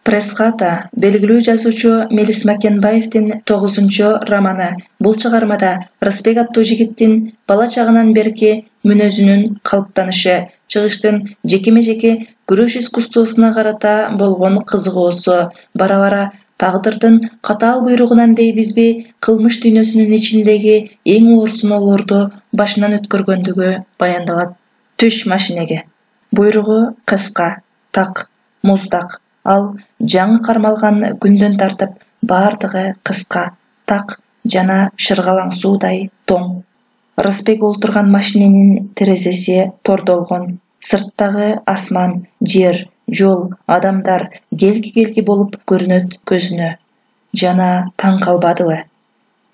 Пресс-хата белгилүү жазуучу Мелис Макенбаевдин 9-романы. Бул чыгармада Рысбек аттуу жигиттин бала чагынан берки мүнөзүнүн калыптанышы, чыгыштын жекеме-жеке күрөш искусствосуна карата болгон кызыгуусу, бара-бара тагдырдын катаал буйругунан дейбизби, кылмыш дүйнөсүнүн ичиндеги эң оор сыноолорду башынан өткөргөндүгү баяндалат. Түш машинеге. Буйругу кыска, так, муздак. Ал жаңы кармалган күндөн тартып бардыгы кыска, так жана шыргалаң суудай тоң. Рысбек олтурган машиненин терезеси тордолгон. Сырттагы асман, жер, жол, адамдар келки-келки болуп көрүнөт көзүнө. Жана таң калбадыбы?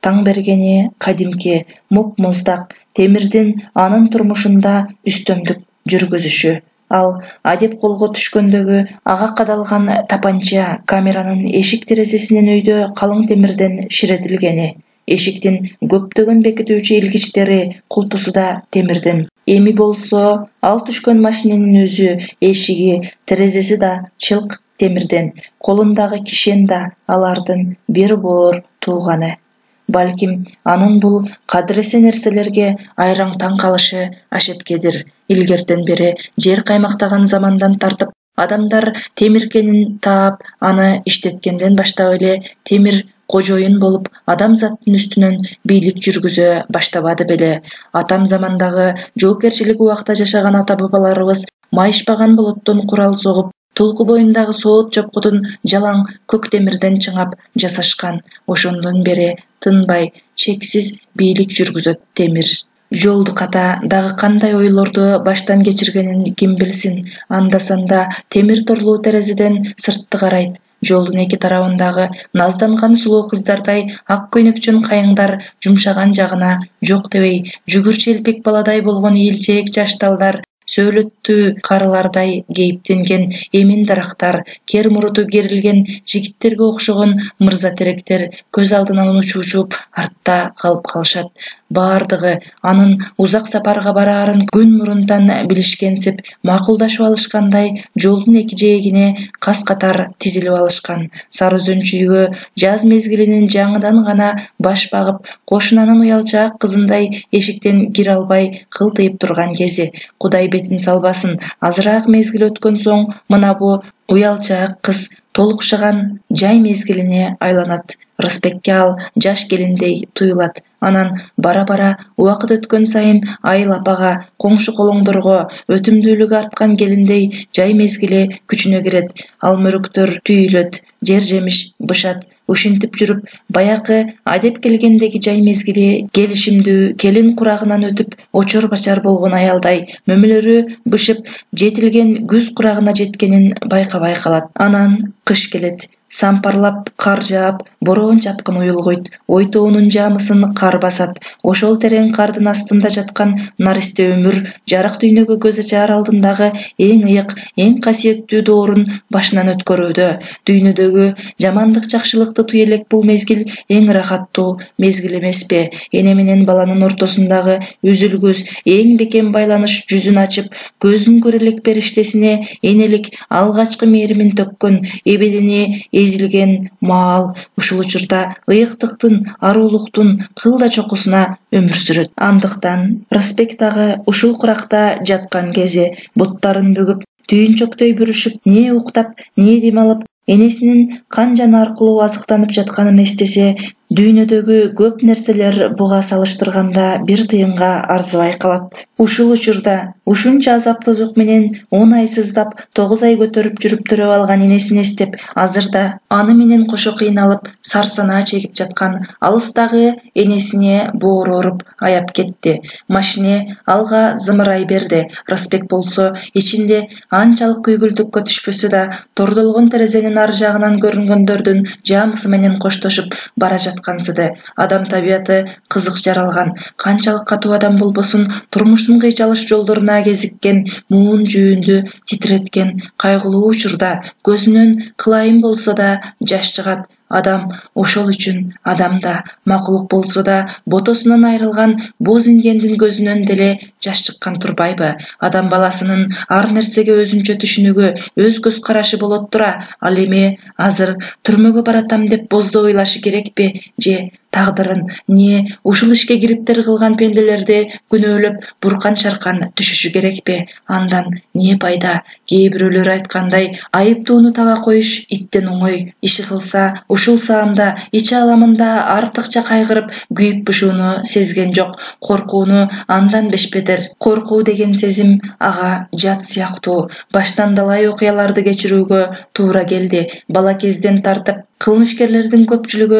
Таң бергени кадимки муп-муздак темирдин анын турмушунда үстөмдүк жүргүзүшү. Ал адеп колго түшкөндөгү ага кадалган тапанча камеранын эшик терезесинин өйдө калың темирден ширетилгени, эшиктин көптөгөн бекитүүчү илгичтери, кулпусу да темирден. Эми болсо ал түшкөн машиненин өзү, эшиги, терезеси да чылк темирден, колундагы кишен да алардын бир боор тууганы. Балким анын бул кадырлесе нерселерге айраң таң калышы ашепкедир. Илгертен бери жер каймактаган замандан тартып адамдар темиркенин таап, аны иштеткенден баштап эле темир кожоюн болуп адамзаттын үстүнөн бийлик жүргүзө баштабады беле. Атам замандагы жоопкерчилиги убакта жашаган ата-бабаларыбыз майышпаган болоттон курал согуп, толку боюндагы соот чопкудун жалаң көк темирден чыңап жасашкан. Ошондон бери тынбай, чексиз бийлик жүргүзөт темир. Жолду ката дагы кандай ойлорду баштан кечиргенин ким билсин. Анда-санда темир торлуу терезеден сыртты карайт. Жолдун эки тарабындагы назданган сулуу кыздардай ак көйнөкчөн кайыңдар жумшаган жагына жок дебей, жүгүр челпек баладай болгон ийилчээк жаш талдар, сөөлөттүү карылардай кейиптенген эмин дарактар, кер муруту керилген жигиттерге окшогон мырза теректер көз алдынан учуп артта калып калышат. Бардыгы анын узак сапарга бараарын күн мурунтан билишкенсип, макулдашып алышкандай жолдун эки жээгине кас-катар тизилип алышкан. Сары Өзөн-чүйгө жаз мезгилинин жаңыдан гана баш багып, кошунанын уялчаак кызындай эшиктен кире албай кылтыйып турган кези. Кудай бетин салбасын, азыраак мезгил өткөн соң мына бу уялчаак кыз толукшаган жай мезгилине айланат. Рысбекке ал жаш келиндей туюлат. Анан бара-бара убакыт өткөн сайын Айыл апага, коңшу колоңдорго өтүмдүүлүгү арткан келиндей жай мезгили күчүнө кирет. Алмөрөктөр түйүлөт, жер-жемиш бышат. Ушинтип жүрүп, баякы адеп келгендеги жай мезгили келишимдүү келин курагынан өтүп, очор-бачар болгон аялдай мөмөлөрү бышып, жетилген күз курагына жеткенин байкабай калат. Анан кыш келет. Сампарлап кар жаап, бороон чапкын уюлгуйт. Ой-тоонун жаамысын кар басат. Ошол терең кардын астында жаткан наристе өмүр жарык дүйнөгө көз ачаар алдындагы эң ыйык, эң касиеттүү доорун башынан өткөрүүдө. Дүйнөдөгү жамандык жакшылыкты туй элек бул мезгил эң ырахаттуу мезгил эмеспи? Эне менен баланын ортосундагы үзүлгүс, эң бекем байланыш жүзүн ачып, көзүн көрө элек периштесине энелик алгачкы мээримин төккөн, эбедини эзилген маал ушул учурда ыйыктыктын, аруулуктун кылда чокусуна өмүр сүрөт. Андыктан Рысбек дагы ушул куракта жаткан кези буттарын бөгүп, түйүнчөктөй бүрүшүп, не уктап, не дем алып, энесинин кан жаны аркылуу азыктанып жатканын эстесе, дүйнөдөгү көп нерселер буга салыштырганда бир тыйынга арзыбай калат. Ушул учурда ушунча азап тозок менен 10 ай сыздап, 9 ай көтөрүп жүрүп төрөп алган энесин эстеп, азырда аны менен кошо кыйналып, сарсанаа чегип жаткан алыстагы энесине боору ооруп аяп кетти. Машине алга зымырай берди. Рысбек болсо ичинде анчалык күйгүлдүккө түшпөсө да, тордолгон терезенин ар жагынан көрүнгөндөрдүн жаамысы менен коштошуп бара жаткансыды. Адам табияты кызык жаралган. Канчалык катуу адам болбосун, турмуштун кыйчалыш жолдоруна кезиккен, муун жүүндү титиреткен кайгылуу учурда көзүнөн кылайым болсо да жаш чыгат. Адам ошол үчүн адамда макулук болсо да ботосунан айрылган боз ингендин көзүнөн деле жаш чыккан турбайбы? Адам баласынын ар нерсеге өзүнчө түшүнүгү, өз көз карашы болот тура, ал эми азыр түрмөгө баратам деп боздоо ыйлашы керекпи? Же тагдырын не ушул ишке кириптер кылган пенделерди күнөөлөп буркан шаркан түшүшү керекпи? Андан не пайда? Кээ бирөөлөр айткандай, айыптууну таба коюш иттен оңой. Иши кылса, ушул саамда, ич аламында артыкча кайгырып, күйүп-бушууну сезген жок. Коркууну андан бешбедер. Коркуу деген сезим ага жат сыяктуу. Баштан далай окуяларды кечирүүгө туура келди. Бала кезден тартып кылмышкерлердин көпчүлүк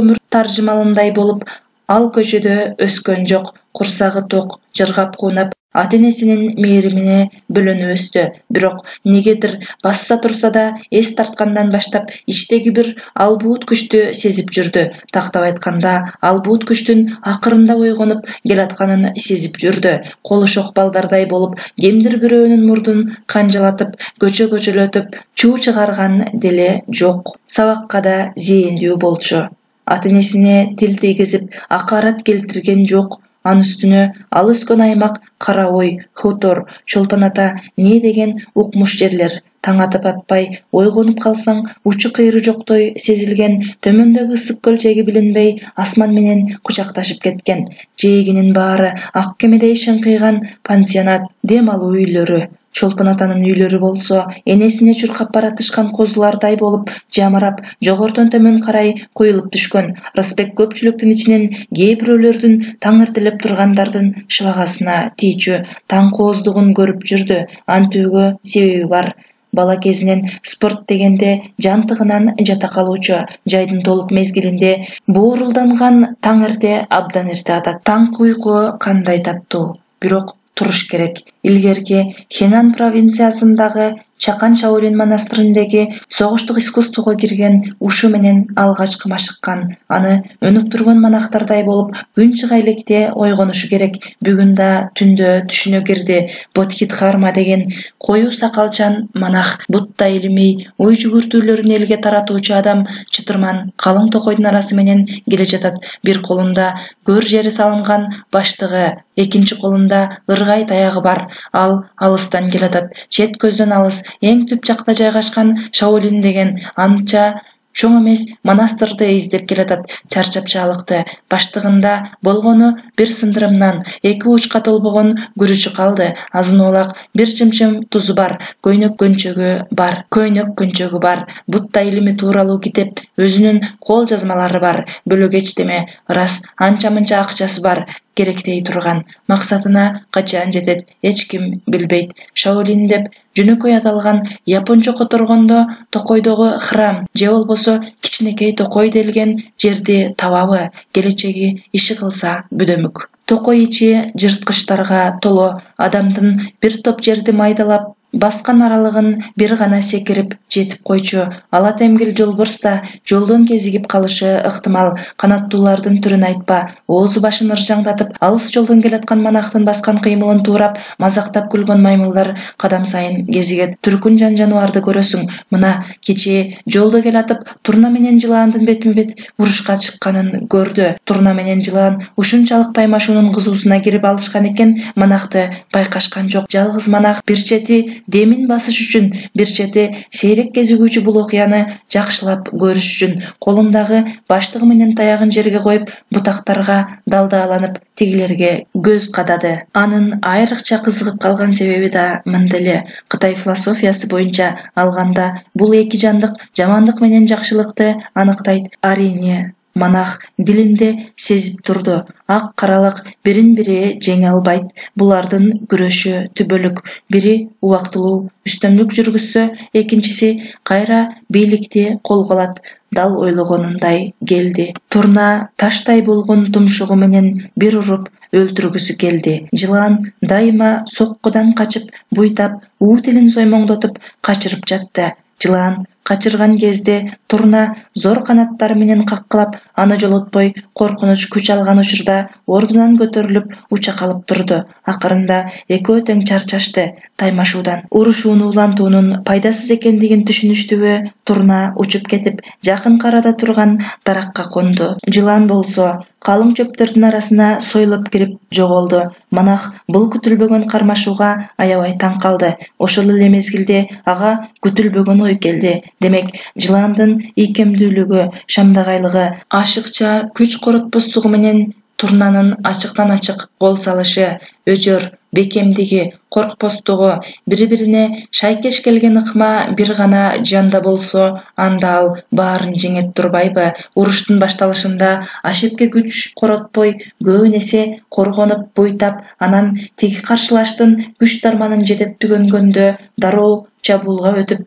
өмүр таржымалындай болуп, ал көчөдө өскөн жок. Курсагы ток, жыргап куунап, ата-энесинин мээримине бөлөнүп өстү. Бирок негедир басса турса да, эс тарткандан баштап ичтеги бир албуут күчтү сезип жүрдү. Тактап айтканда, албуут күчтүн акырында ойгонуп келатканын сезип жүрдү. Колу шок балдардай болуп, кимдир бирөөнүн мурдун канжалатып, көчөлөтүп, чуу чыгарган деле жок. Сабакка да зээндүү болчу. Ата-энесине тил тийгизип, акарат келтирген жок. Анын үстүнө ал өскөн аймак Кара Ой, Хутор, Чолпон Ата не деген укмуш жерлер. Таң атып атпай, ойгонуп калсаң, учу кыйры жоктой сезилген төмөндөгү ысык көл чеги билинбей асман менен кучакташып кеткен. Жээгинин баары ак кемедей шыңкыйган пансионат, дем алуу үйлөрү. Чолпон Атанын үйлөрү болсо энесине чуркап баратышкан козулардай болуп, жамырап, жогорудон төмөн карай коюлуп түшкөн. Рысбек көпчүлүктүн ичинен кээ бирөөлөрдүн таңыртылып тургандардын шыбагасына тийчү таң кооздугун көрүп жүрдү. Антүүгө себеби бар. Бала кезинен спорт дегенде жантыгынан жата калуучу. Жайдын толук мезгилинде боорулданган таң эрте абдан эрте атат. Таңкы уйку кандай таттуу. Бирок туруш керек. Илгерки Хенан провинциясындагы Чакан Шаолин монастырындагы согуштук искусствого кирген ушу менен алгачкы машыккан. Аны өнүк турган монахтардай болуп, күн чыга электе ойгонушу керек. Бүгүн да түндө түшүнө кирди. Бодхидхарма деген коюу сакалчан монах, Будда илимий, ой жүгүртүүлөрүн элге таратуучу адам чытырман калың токойдун арасы менен келе жатат. Бир колунда көр жери салынган баштыгы, экинчи колунда ыргай таягы бар. Ал алыстан келатат. Чет көздөн алыс, эң түп жакта жайгашкан Шаолин деген анча чоң эмес монастырды издеп келатат. Чарчап чалыкты. Баштыгында болгону бир сындырымнан, эки учка толбогон күрүчү калды. Азын оолак бир чымчым тузу бар. Көйнөк көнчөгү бар. Будда илими тууралуу китеп, өзүнүн кол жазмалары бар. Бөлөк эчтеме, ырас анча-мынча акчасы бар. Керектей турган. Максатына качан жетет, эч ким билбейт. Шаолин деп жөнөкөй аталган япончо которгондо токойдогу храм же болбосо кичинекей токой делген жерди табабы? Келечеги иши кылса бүдөмүк. Токой ичи жырткычтарга толо. Адамдын бир топ жерди майдалап баскан аралыгын бир гана секирип жетип койчу. Ала темгил жолборс да жолдон кезигип калышы ыктымал. Канаттуулардын түрүн айтпа. Оозу башын ыржаңдатып, алыс жолдон келаткан монахтын баскан кыймылын туурап, мазактап күлгөн маймылдар кадам сайын кезигет. Түркүн жаныбарды көрөсүң. Мына кечээ жолдо келатып, турна менен жылаандын бетин-бет урушка чыкканын көрдү. Турна менен жылаан ушунчалык таймашуунун кызуусуна кирип алышкан экен, монахты байкашкан жок. Жалгыз монах бир чети демин басыш үчүн, бир чети сейрек кезигүүчү бул окуяны жакшылап көрүш үчүн колундагы баштыгы менен таягын жерге коюп, бутактарга далдааланып тигилерге көз кадады. Анын айрыкча кызыгып калган себеби да мында эле. Кытай философиясы боюнча алганда бул эки жандык жамандык менен жакшылыкты аныктайт. Арине монах дилинде сезип турду. Ак каралык бирин-бири жеңе албайт. Булардын күрөшү түбөлүк. Бири убактылуу үстөмдүк жүргүзсө, экинчиси кайра бийликти колго алат. Дал ойлогонундай келди. Турна таштай болгон тумшугу менен бир уруп өлтүргүсү келди. Жылаан дайыма соккудан качып, буйтап, уу тилин соймоңдотуп качырып жатты. Жылаан качырган кезде Турна зор канаттары менен каккылап, аны жолотпой коркунуч күч алган учурда ордунан көтөрүлүп уча калып турду. Акырында экөө тең чарчашты таймашуудан. Урушууну улантуунун пайдасыз экендигин түшүнүштүбү, Турна учуп кетип, жакын арада турган даракка конду. Жылан болсо калың чөптөрдүн арасына сойлоп кирип жоголду. Манах бул күтүлбөгөн кармашууга аябай таң калды. Ошол эле мезгилде ага күтүлбөгөн ой келди. Демек, жыландын ийкемдүүлүгү, шамдагайлыгы, ашыкча күч коротпостугу менен Турнанын ачыктан ачык кол салышы, өжөр, бекемдиги, коркпостугу, бири-бирине шайкеш келген ыкма бир гана жанда болсо, анда ал баарын жеңет турбайбы? Уруштун башталышында Ашепке күч коротпой, көбүн эсе коргонуп, буйтап, анан тиги каршылаштын күч дарманын жетеп түгөнгөндө дароо чабуулга өтүп,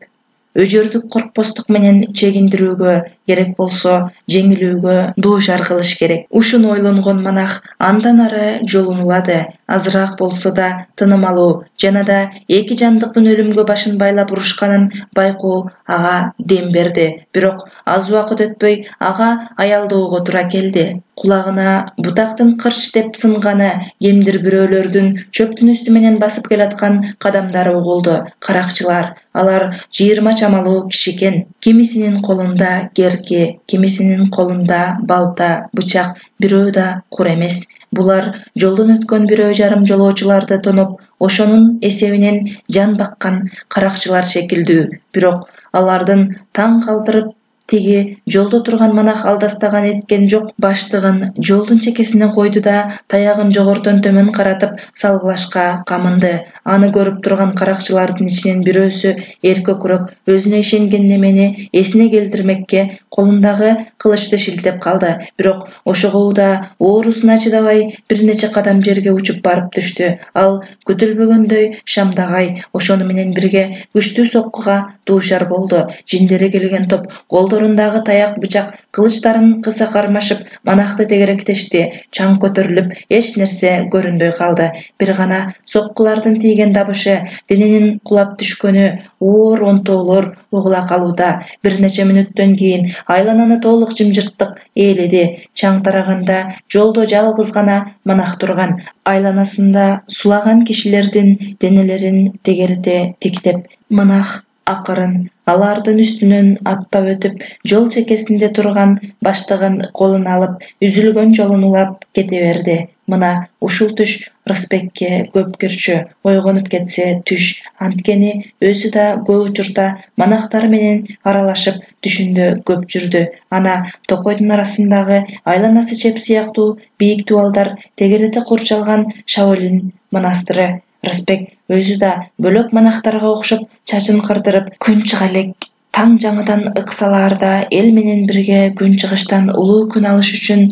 өжөрдүк коркпостук менен чегиндирүүгө, керек болсо жеңилүүгө дуушар кылыш керек. Ушуну ойлонгон Манах андан ары жолун улады. Азыраак болсо да тыным алуу жана да эки жандыктын өлүмгө башын байлап урушканын байкоо ага дем берди. Бирок аз убакыт өтпөй ага аялдоого туура келди. Кулагына бутактын кырч деп сынганы, кимдир бирөөлөрдүн чөптүн үстү менен басып келаткан кадамдары угулду. Каракчылар, алар 20 чамалуу киши экен. Кимисинин колунда керки, кимисинин колунда балта, бычак, бирөө да кур эмес. Булар жолдон өткөн бирөө жарым жолоочуларды тоноп, ошонун эсебинен жан баккан каракчылар шекилдүү. Бирок алардын таң калтырып, тиги жолдо турган Манах алдастаган эткен жок. Баштыгын жолдун чекесине койду да таягын жогорудон төмөн каратып салгылашка камынды. Аны көрүп турган каракчылардын ичинен бирөөсү эркөкүрөөк өзүнө ишенген немени эсине келтирмекке колундагы кылычты шилтеп калды. Бирок ошого да оорусуна чыдабай бир нече кадам жерге учуп барып түштү. Ал күтүлбөгөндөй Шамдагай ошону менен бирге күчтүү соккуга дуушар болду. Жиндери келген топ колдорундагы таяк, бычак, кылычтарын кыса кармашып Манахты тегеректешти. Чаң көтөрүлүп, эч нерсе көрүнбөй калды. Бир гана соккулардын тийген дабышы, дененин кулап түшкөнү, оор онтоолор угула калууда. Бир нече мүнөттөн кийин айлананы толук жымжырттык ээледи. Чаң тараганда жолдо жалгыз гана Манах турган. Айланасында сулаган кишилердин денелерин тегерете тиктеп, Манах акырын алардын үстүнөн аттап өтүп, жол чекесинде турган баштыгын колуна алып, үзүлгөн жолун улап кете берди. Мына ушул түш Рысбекке көп кирчү, ойгонуп кетсе түш. Анткени өзү да көп учурда Манахтар менен аралашып түшүндө көп жүрдү. Ана токойдун арасындагы айланасы чеп сыяктуу бийик дубалдар тегерете курчалган Шаолин монастыры. Рысбек өзү да бөлөк Манахтарга окшоп чачын кырдырып, күн чыга элек таң жаңыдан ыксалаарда эл менен бирге күн чыгыштан улуу күн алыш үчүн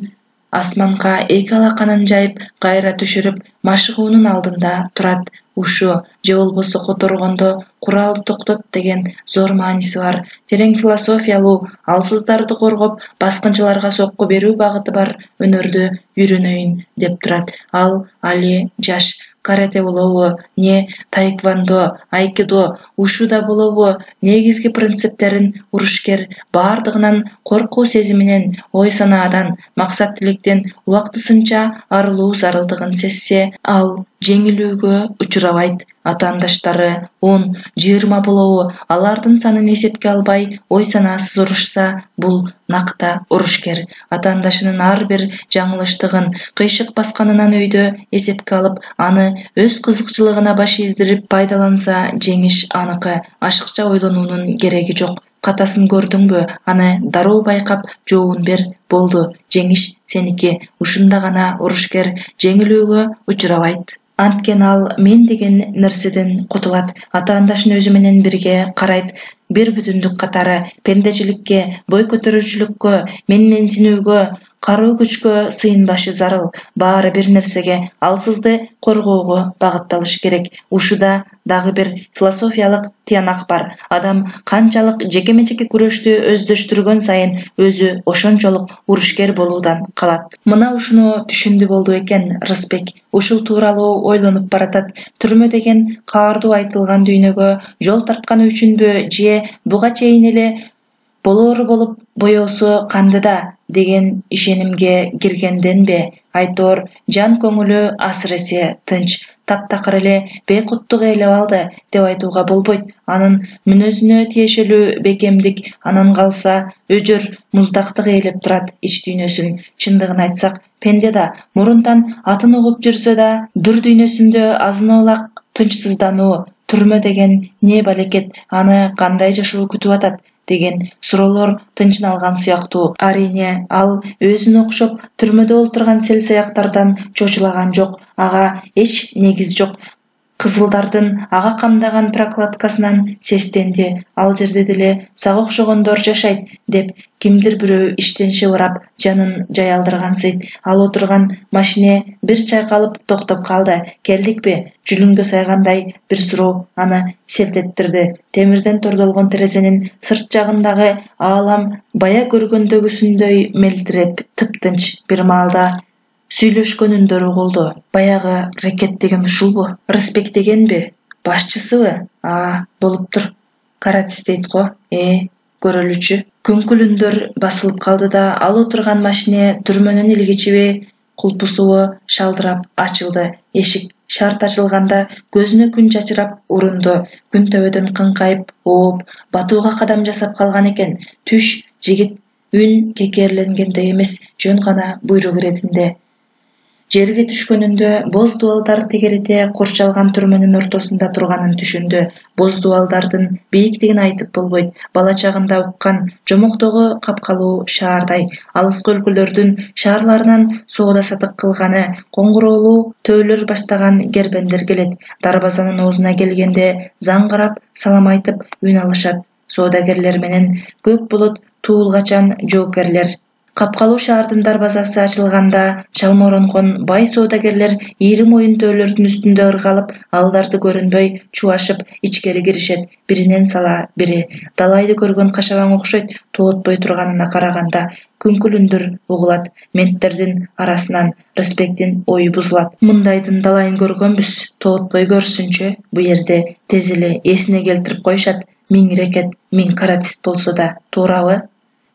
асманга эки алаканын жайып кайра түшүрүп машыгуунун алдында турат. Ушу же болбосо которгондо куралды токтот деген зор мааниси бар. Терең философиялуу, алсыздарды коргоп, баскынчыларга сокку берүү багыты бар өнөрдү үйрөнөйүн деп турат. Ал али жаш. Карате болобу, не таэквондо, айкидо, ушуда болобу, негизги принциптерин урушкер баардыгынан коркуу сезиминен, ой санаадан, максат тилектен убактысынча арылуу зарылдыгын сезсе, ал жеңилүүгө учурабайт. Атаандаштары 10-20 болобу, алардын санын эсепке албай ой санаасыз урушса, бул накта урушкер. Атаандашынын ар бир жаңылыштыгын, кыйшык басканынан өйдө эсепке алып, аны өз кызыкчылыгына баш ийдирип пайдаланса, жеңиш аныкы. Ашыкча ойлонуунун кереги жок. Катасын көрдүңбү? Аны дароо байкап, жообун бер. Болду, жеңиш сеники. Ушунда гана урушкер жеңилүүгө учурабайт. Анткени ал мен деген нерседен кутулат. Атаандашын өзү менен бирге карайт. Бир бүтүндүк катары пендечиликке, бой көтөрүүчүлүккө, менменсинүүгө, кароо күчкө сыйынбашы зарыл. Баары бир нерсеге, алсызды коргоого багытталышы керек. Ушуда дагы бир философиялык тыянак бар. Адам канчалык жекеме-жеке күрөштү өздөштүргөн сайын өзү ошончолук урушкер болуудан калат. Мына ушуну түшүндү болду экен Рысбек. Ушул тууралуу ойлонуп баратат. Түрмө деген каардуу айтылган дүйнөгө жол тартканы үчүнбү же буга чейин эле Болоору болуп боёсу канды да деген ишенимге киргенденби айтор жан көңүлү асыресе тынч, таптакыр эле бейкуттук ээлеп алды деп айтууга болбойт. Анын мүнөзүнө тиешелүү бекемдик анан калса өжөр муздактык ээлеп турат ич дүйнөсүн. Чындыгын айтсак, пенде да мурунтан атын угуп жүрсө да дүр дүйнөсүндө азын-аулак тынчсыздануу, түрмө деген не балекет, аны кандай жашоо күтүп атат деген суроолор тынчын алган сыяктуу. Арийне ал өзүнө окшоп түрмөдө олтурган сел-саяктардан чочулаган жок. Ага эч негиз жок. Кызылдардын ага камдаган прокладкасынан сестенди. Ал жерде деле сага окшогондор жашайт деп кимдир бирөө иштен шыбырап жанын жаялдыргансыйт. Ал отурган машине бир чайкалып токтоп калды. Келдикпи? Жүлүнгө сайгандай бир суроо аны селт эттирди. Темирден тордолгон терезенин сырт жагындагы аалам бая көргөндөгүсүндөй мелдиреп тыптынч. Бир маалда сүйлөшкөн үндөр угулду. Баягы рекет деген ушулбу? Рысбек дегенби? Башчысыбы? Болуптур. Каратист дейт го. Көрөлүчү. Күңкүл үндөр басылып калды да ал отурган машине түрмөнүн илгичиби, кулпусубу шалдырап ачылды. Эшик шарт ачылганда көзүнө күн чачырап урунду. Күн төбөдөн кыңкайып, ооп, батууга кадам жасап калган экен. Түш, жигит. Үн кекерленгендей эмес, жөн гана буйрук иретинде. Жерге түшкөнүндө боз дубалдар тегерете курчалган түрмөнүн ортосунда турганын түшүндү. Боз дубалдардын бийиктигин айтып болбойт. Бала чагында уккан жомоктогу капкалуу шаардай. Алыскы өлкөлөрдүн шаарларынан соода сатык кылганы, коңгуроолуу төөлөр баштаган кербендер келет. Дарбазанын оозуна келгенде заңгырап, салам айтып үн алышат. Соодагерлер менен көк булут туулгачан жоокерлер. Капкалуу шаардын дарбазасы ачылганда чалморонгон бай соодагерлер ийри моюн төөлөрдүн үстүндө ыргалып, алдарды көрүнбөй чубашып ичкери киришет. Биринен сала бири. Далайды көргөн кашабаң окшойт. Тоотпой турганына караганда күңкүл үндөр угулат. Менттердин арасынан Рысбектин ою бузулат. Мындайдын далайын көргөнбүз. Тоотпой көрсүнчү. Бу жерде тез эле эсине келтирип коюшат. Миң рекет, миң каратист болсо да, туурабы?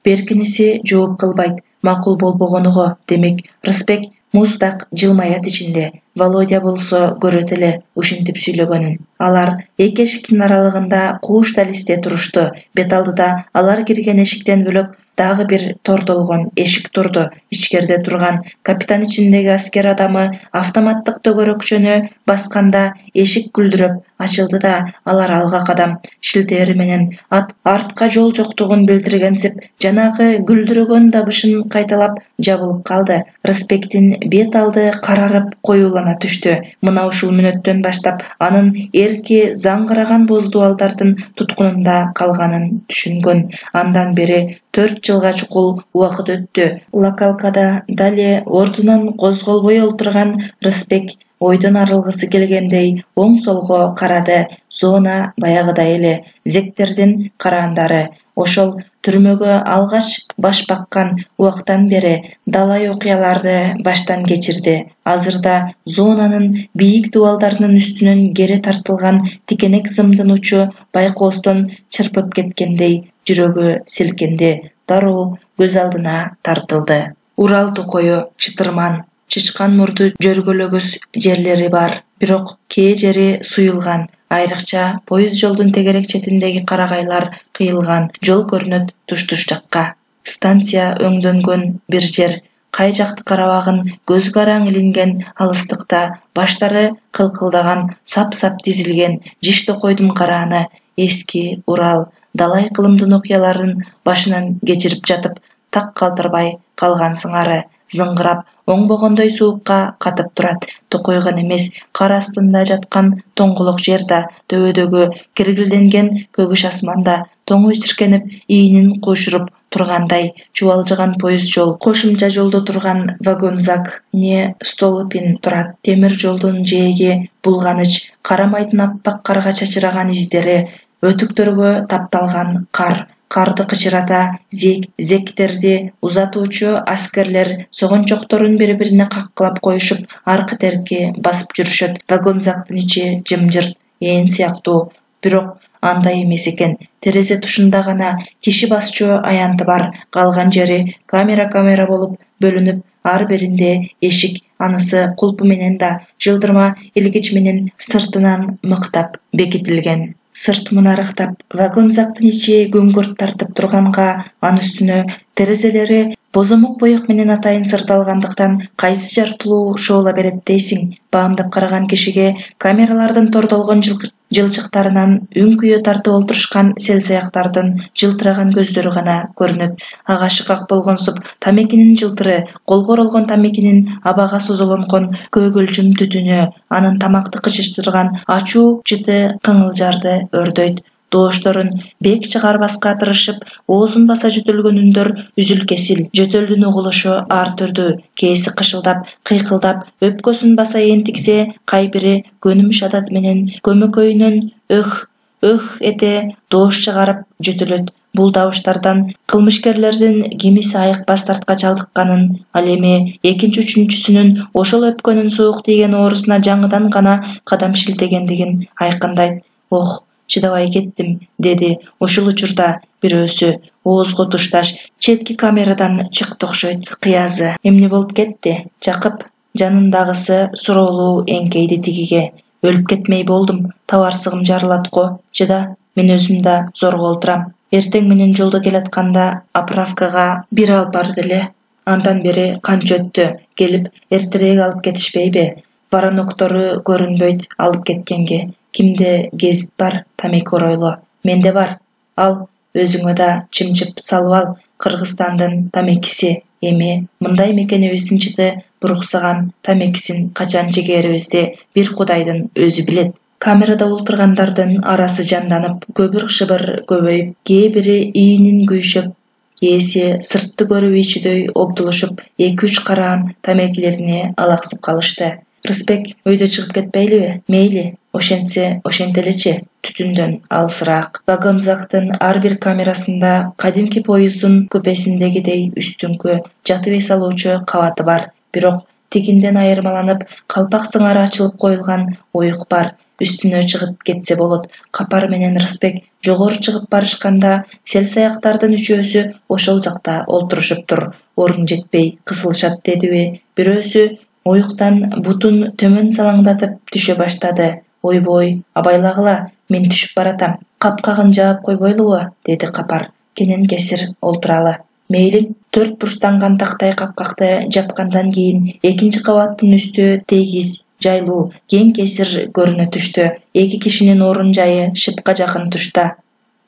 Беркиниси жооп кылбайт. Макул болбогону го. Демек, Рысбек муздак жылмаят ичинде. Володя болсо көрөт эле ушинтип сүйлөгөнүн. Алар эки эшиктин аралыгында кууш далисте турушту. Бет алдыда алар кирген эшиктен бөлөк дагы бир тордолгон эшик турду. Ичкерде турган капитан ичиндеги аскер адамы автоматтык төгөрөкчөнү басканда эшик гүлдүрөп ачылды да алар алга кадам шилтери менен артка жол жоктугун билдиргенсип жанагы гүлдүрөгөн дабышын кайталап жабылып калды. Рысбектин бет алды карарып коюулана түштү. Мына ушул мүнөттөн баштап анын эрки заңгыраган боз дубалдардын туткунунда калганын түшүнгөн. Андан бери 4 жылга чукул убакыт өттү. Локалкада дале ордунан козголбой олтурган Рысбек ойдон арылгысы келгендей оң-солго карады. Зона баягыдай эле. Зектердин караандары. Ошол түрмөгө алгач баш баккан убактан бери далай окуяларды баштан кечирди. Азырда зонанын бийик дубалдарынын үстүнөн кере тартылган тикенек зымдын учу байкоостон чырпып кеткендей жүрөгү силкинди. Дароо көз алдына тартылды. Урал токою, чытырман, чычкан мурду жөргөлөгүс жерлери бар. Бирок кээ жери суюлган. Айрыкча поезд жолдун тегерек четиндеги карагайлар кыйылган. Жол көрүнөт туш-туш жакка. Станция өңдөнгөн бир жер. Кай жакты карабагын көзгө араң илинген алыстыкта баштары кылкылдаган сап-сап тизилген жиш токойдун карааны. Эски Урал далай кылымдын окуяларын башынан кечирип жатып так калтырбай калган сыңары. Зыңгырап, оңбогондой суукка катып турат. Токой гана эмес, кар астында жаткан тоңголок жер да, төбөдөгү киргилденген көгүш асман да тоңу чиркенип, ийинин кошуруп тургандай. Чубалжыган поезд жол, кошумча жолдо турган вагонзак не Столыпин турат. Темир жолдун жээги булганыч, карамайдын аппак карга чачыраган издери, өтүктөргө тапталган кар. Карды кычырата зектерди узатуучу аскерлер согончокторун бири-бирине каккылап коюшуп, аркы-терки басып жүрүшөт. Вагонзактын ичи жымжырт, ээн сыяктуу. Бирок андай эмес экен. Терезе тушунда гана киши басчу аянты бар. Калган жери камера болуп бөлүнүп, ар биринде эшик, анысы кулпу менен да жылдырма илгич менен сыртынан мыктап бекитилген. Сырт мунарыктап, вагон зактын ичи көңгүрт тартып турганга, анын үстүнө терезелери бозомок боек менен атайын сырталгандыктан кайсы жартылуу шоола берет дейсиң. Баамдап караган кишиге камералардын тордолгон жылчыктарынан үң-күйөө тартып олтурушкан селсаяктардын жылтыраган көздөрү гана көрүнөт. Ага шыкак болгонсуп тамекинин жылтыры, колго оролгон тамекинин абага созолонгон көөгөлчүм түтүнү, анын тамакты кычыштырган ачуу жыты кыңылжарды өрдөйт. Доошторун бек чыгарбаска тырышып, оозун баса жөтөлгөн үндөр үзүл-кесил, жөтөлдүн угулушу ар түрдүү, кээси кышылдап, кыйкылдап, өпкөсүн баса энтиксе, кайбири көнүмүш адат менен көмөкөйүнөн өх эте доош чыгарып жөтөлөт. Бул добуштардан кылмышкерлердин кимиси айыкпас дартка чалдыкканын, ал эми экинчи-үчүнчүсүнүн ошол өпкөнүн суук тийген оорусуна жаңыдан гана кадам шилтегендигин айкындайт. Ох, чыдабай кеттим, деди ушул учурда бирөөсү. Оозго тушташ четки камерадан чыкты окшойт. Кыязы. Эмне болуп кетти? Жакып жанындагысы суроолуу эңкейди тигиге. Өлүп кетмей болдум. Табарсыгым жарылат го. Чыда, мен өзүм да зорго олтурам. Эртең менен жолдо келатканда оправкага бир алып барды эле. Андан бери канча өттү? Келип эртерээк алып кетишпейби? Бараноктору көрүнбөйт алып кеткенге. Кимде гезит бар? Тамеки оройло. Менде бар. Ал, өзүңө да чымчып салып ал. Кыргызстандын тамекиси. Эми мындай мекенибиздин жыты буруксаган тамекисин качан чегерибизди бир Кудайдын өзү билет. Камерада олтургандардын арасы жанданып, көбүр-шыбыр көбөйүп, кээ бири ийинин күйшөп, кээси сыртты көрүп ичүүдөй обдулушуп, 2-3 караан тамекилерине алаксып калышты. Рысбек өйдө чыгып кетпейлиби? Мейли, ошентсе ошентелечи, түтүндөн алысыраак. Вагонзактын ар бир камерасында кадимки поезддун купесиндегидей үстүңкү жатып эс алуучу кабаты бар. Бирок тигинден айырмаланып, калпак сыңары ачылып коюлган оюк бар. Үстүнө чыгып кетсе болот. Капар менен Рысбек жогору чыгып барышканда, селсаяктардын үчөөсү ошол жакта олтурушуптур. Орун жетпей кысылышат дедиби? Бирөөсү оюктан бутун төмөн салаңдатып түшө баштады. Ойбой, абайлагыла, мен түшүп баратам. Капкагын жаап койбойлубу? Деди Капар. Кенен кесир олтуралы. Мейли. 4 бурчтанган тактай капкакты жапкандан кийин экинчи кабаттын үстү тегиз, жайлуу, кең кесир көрүнө түштү. 2 кишинин орун жайы шыпка жакын тушта.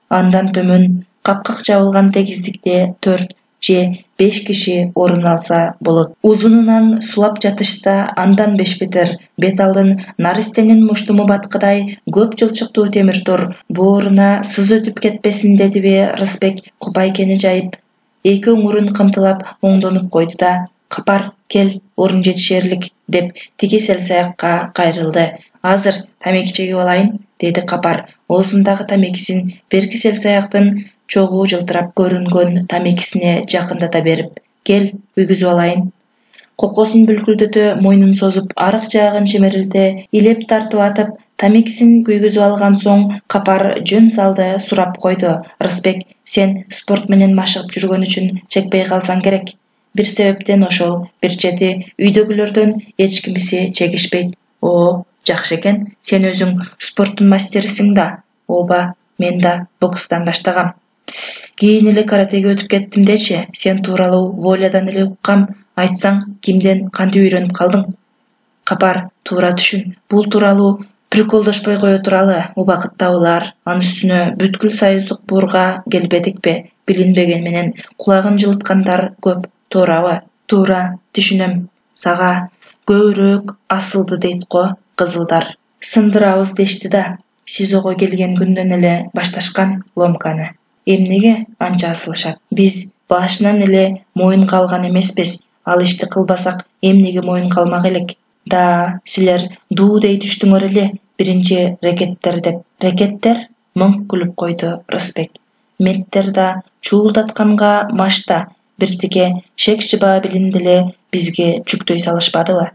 Андан төмөн капкак жабылган тегиздикте 4 же 5 киши орун алса болот. Узунунан сулап жатышса, андан 5 бетер. Бет алдын наристенин муштуму баткыдай көп жылчыктуу темир тор. Бооруна сыз өтүп кетпесин дедиби Рысбек купайкени жайып, 2 оңурун кымтылап оңдонуп койду да, Капар, кел, орун жетишерлик, деп тиги селсаякка кайрылды. Азыр тамеки чегип алайын, деди Капар. Оозундагы тамекисин берки селсаяктын чогуу жылтырап көрүнгөн тамекисине жакындата берип, кел, күйгүзүп алайын. Кокосун бүлкүлдөтө мойнун созуп, арык жаагын чимерилте, илеп тартып атып, тамекисин күйгүзүп алган соң Капар жөн салды сурап койду. Рысбек, сен спорт менен машыгып жүргөн үчүн чекпей калсаң керек. Бир себептен ошол, бир чети үйдөгүлөрдөн эч кимиси чегишпейт. О, жакшы экен, сен өзүң спорттун мастерисиң да. Ооба, мен да бокстан баштагам. Кийин эле каратеге өтүп кеттим дечи, сен тууралуу Волядан эле уккам. Айтсаң, кимден кантип үйрөнүп калдың? Капар, туура түшүн. Бул тууралуу приколдошпой кое туралы. Убакыт табылар. Анын үстүнө бүткүл союздук буурга келбедикпи? Билинбеген менен кулагын жылыткандар көп. Туурабы? Туура, түшүнөм. Сага көбүрөөк асылды дейт го кызылдар. Сындырабыз дешти да. СИЗОго келген күндөн эле башташкан ломканы. Эмнеге анча асылышат? Биз башынан эле моюнга алган эмеспиз. Ал ишти кылбасак, эмнеге моюнга алмак элек? Да, силер дуу дей түштүңөр эле, биринчи рекеттер деп. Рекеттер? Мыңк күлүп койду Рысбек. Меттер да чуулдатканга машта, биртике шек-шыба билинди эле бизге жүктөй салышпадыбы?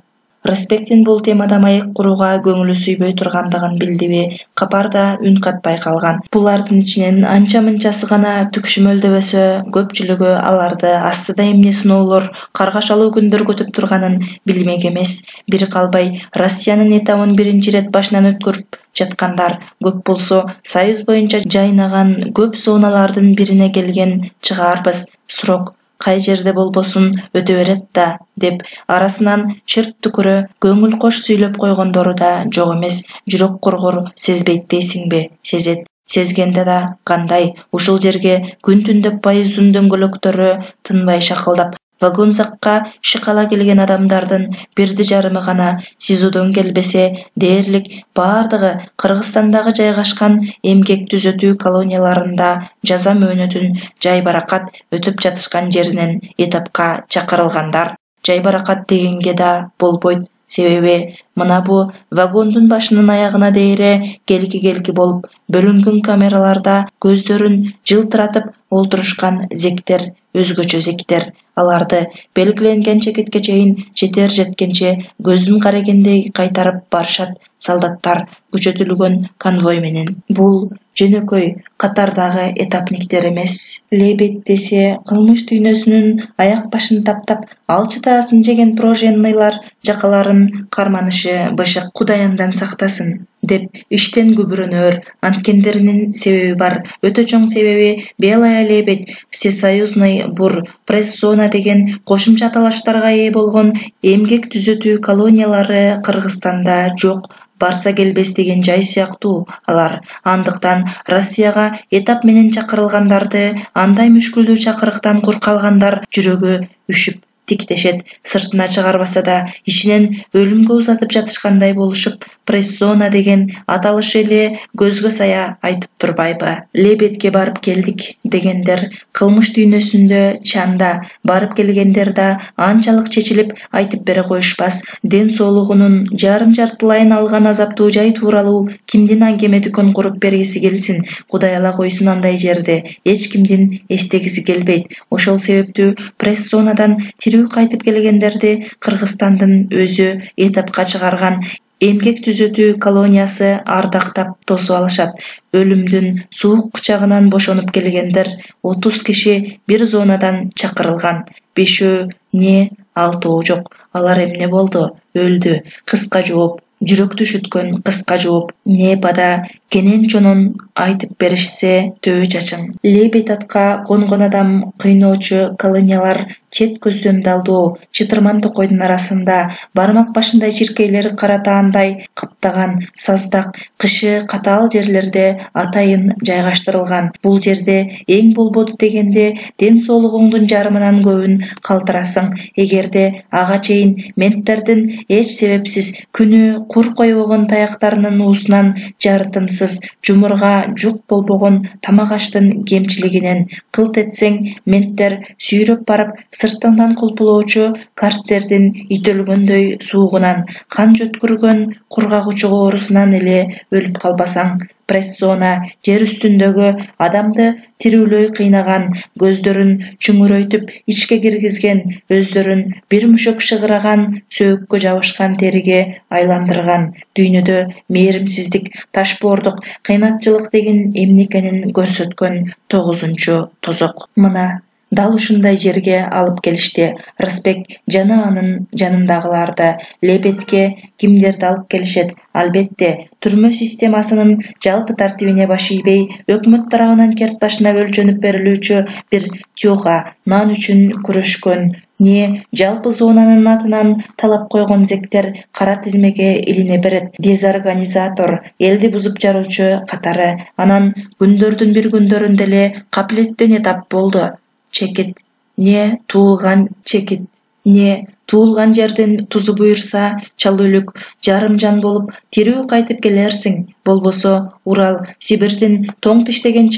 Рысбектин бул темада маек курууга көңүлү сүйбөй тургандыгын билдиби? Капарда үн катпай калган. Булардын ичинен анча-мынчасы гана түкшүмөлдөбөсө, көпчүлүгү аларды астыда эмне сыноолор, каргашалуу күндөр күтүп турганын билмек эмес. Бир калбай Россиянын этабын биринчи ирет башынан өткөрүп жаткандар көп болсо, Союз боюнча жайнаган көп зоналардын бирине келген чыгаарбыз. Срок кай жерде болбосун өтө берет да, деп арасынан чырт түкүрө көңүл кош сүйлөп койгондору да жок эмес. Жүрөк кургур сезбейт дейсиңби? Сезет. Сезгенде да кандай? Ушул жерге күн түндөп поезддин дөңгөлөктөрү тынбай шакылдап, вагонзакка шыкала келген адамдардын бирди жарымы гана СИЗОдон келбесе, дээрлик бардыгы Кыргызстандагы жайгашкан эмгек түзөтүү колонияларында жаза мөөнөтүн жайбаракат өтүп жатышкан жеринен этапка чакырылгандар. Жайбаракат дегенге да болбойт. Себеби мына бу вагондун башынын аягына дээре келки болуп бөлүнгөн камераларда көздөрүн жылтыратып олтурушкан зектер, өзгөчө зектер. Аларды белгиленген чекитке чейин жетер жеткенче көздүн карегендей кайтарып барышат солдаттар күчөтүлгөн конвой менен. Бул жөнөкөй катардагы этапниктер эмес. Лебедь десе кылмыш дүйнөсүнүн аяк башын таптап, алчытаасын жеген проженныйлар жакаларын карманышы бышык. Кудай андан сактасын, деп иштен күбүрөнөр анткендеринин себеби бар. Өтө чоң себеби Белая лебедь, Всесоюзный бур, пресс-зона деген кошумча аталыштарга ээ болгон эмгек түзөтүү колониялары Кыргызстанда жок. Барса келбес деген жай сыяктуу алар. Андыктан Россияга этап менен чакырылгандарды андай мүшкүлдүү чакырыктан кур калгандар жүрөгү үшүп тиктешет. Сыртына чыгарбаса да ичинен өлүмгө узатып жатышкандай болушуп, пресс-зона деген аталыш эле көзгө сая айтып турбайбы? Лебедьке барып келдик дегендер кылмыш дүйнөсүндө чанда, барып келгендер да анчалык чечилип айтып бере коюшпас. Ден соолугунун жарым-жартылайын алган азаптуу жай тууралуу кимдин аңгеме дүкөн куруп бергиси келсин? Кудай ала койсун, андай жерде эч кимдин эстегиси келбейт. Ошол себептүү пресс-зонадан кайтып келгендерди Кыргызстандын өзү этапка чыгарган эмгек түзөтүү колониясы ардактап тосуп алышат. Өлүмдүн суук кучагынан бошонуп келгендер 30 киши бир зонадан чакырылган. 5 не 6 жок. Алар эмне болду? Өлдү. Кыска жооп. Жүрөктү шүткөн кыска жооп. Не бада кенен-чонон айтып беришсе төбө чачың. Лебедь атка конгон адам кыйноочу колониялар чет көздөн далдоо, чытырман токойдун арасында бармак башындай чиркейлери кара таандай каптаган саздак, кышы катаал жерлерде атайын жайгаштырылган. Бул жерде эң болбоду дегенде ден соолугуңдун жарымынан көбүн калтырасың. Эгерде ага чейин менттердин эч себепсиз күнү кур койбогон таяктарынын уусунан жарытымсыз жумурга жук болбогон тамак аштын кемчилигинен кылт этсең, менттер сүйрөп барып сыртыңдан кулпулоочу карцердин итөлгөндөй суугунан, кан жөткүргөн кургагучу оорусунан эле өлүп калбасаң. Пресс-зона жер үстүндөгү адамды тирүүлөй кыйнаган, көздөрүн чүңүрөйтүп ичке киргизген, өздөрүн бир мүшөк шыгыраган, сөөккө жабышкан териге айландырган. Дүйнөдө мээримсиздик, ташбоордук, кыйнатчылык деген эмне экенин көрсөткөн 9-тозок. Мына дал ушундай жерге алып келишти. Рысбек жана анын жанындагыларды. Лебедьке кимдерди алып келишет? Албетте, түрмө системасынын жалпы тартибине баш ийбей, өкмөт тарабынан керт башына өлчөнүп берилүүчү бир тёга, нан үчүн күрөшкөн, не жалпы зонанын атынан талап койгон зектер кара тизмеге илине берет. Дезорганизатор, элди бузуп жаруучу катары. Анан күндөрдүн бир күндөрүндө эле капилеттен этап болду. Чекит. Не туулган чекит. Не туулган жердин тузу буйрса, чал-өлүк, жарым жан болуп тирүү кайтып келерсиң. Болбосо Урал, Сибирдин тоң тиштеген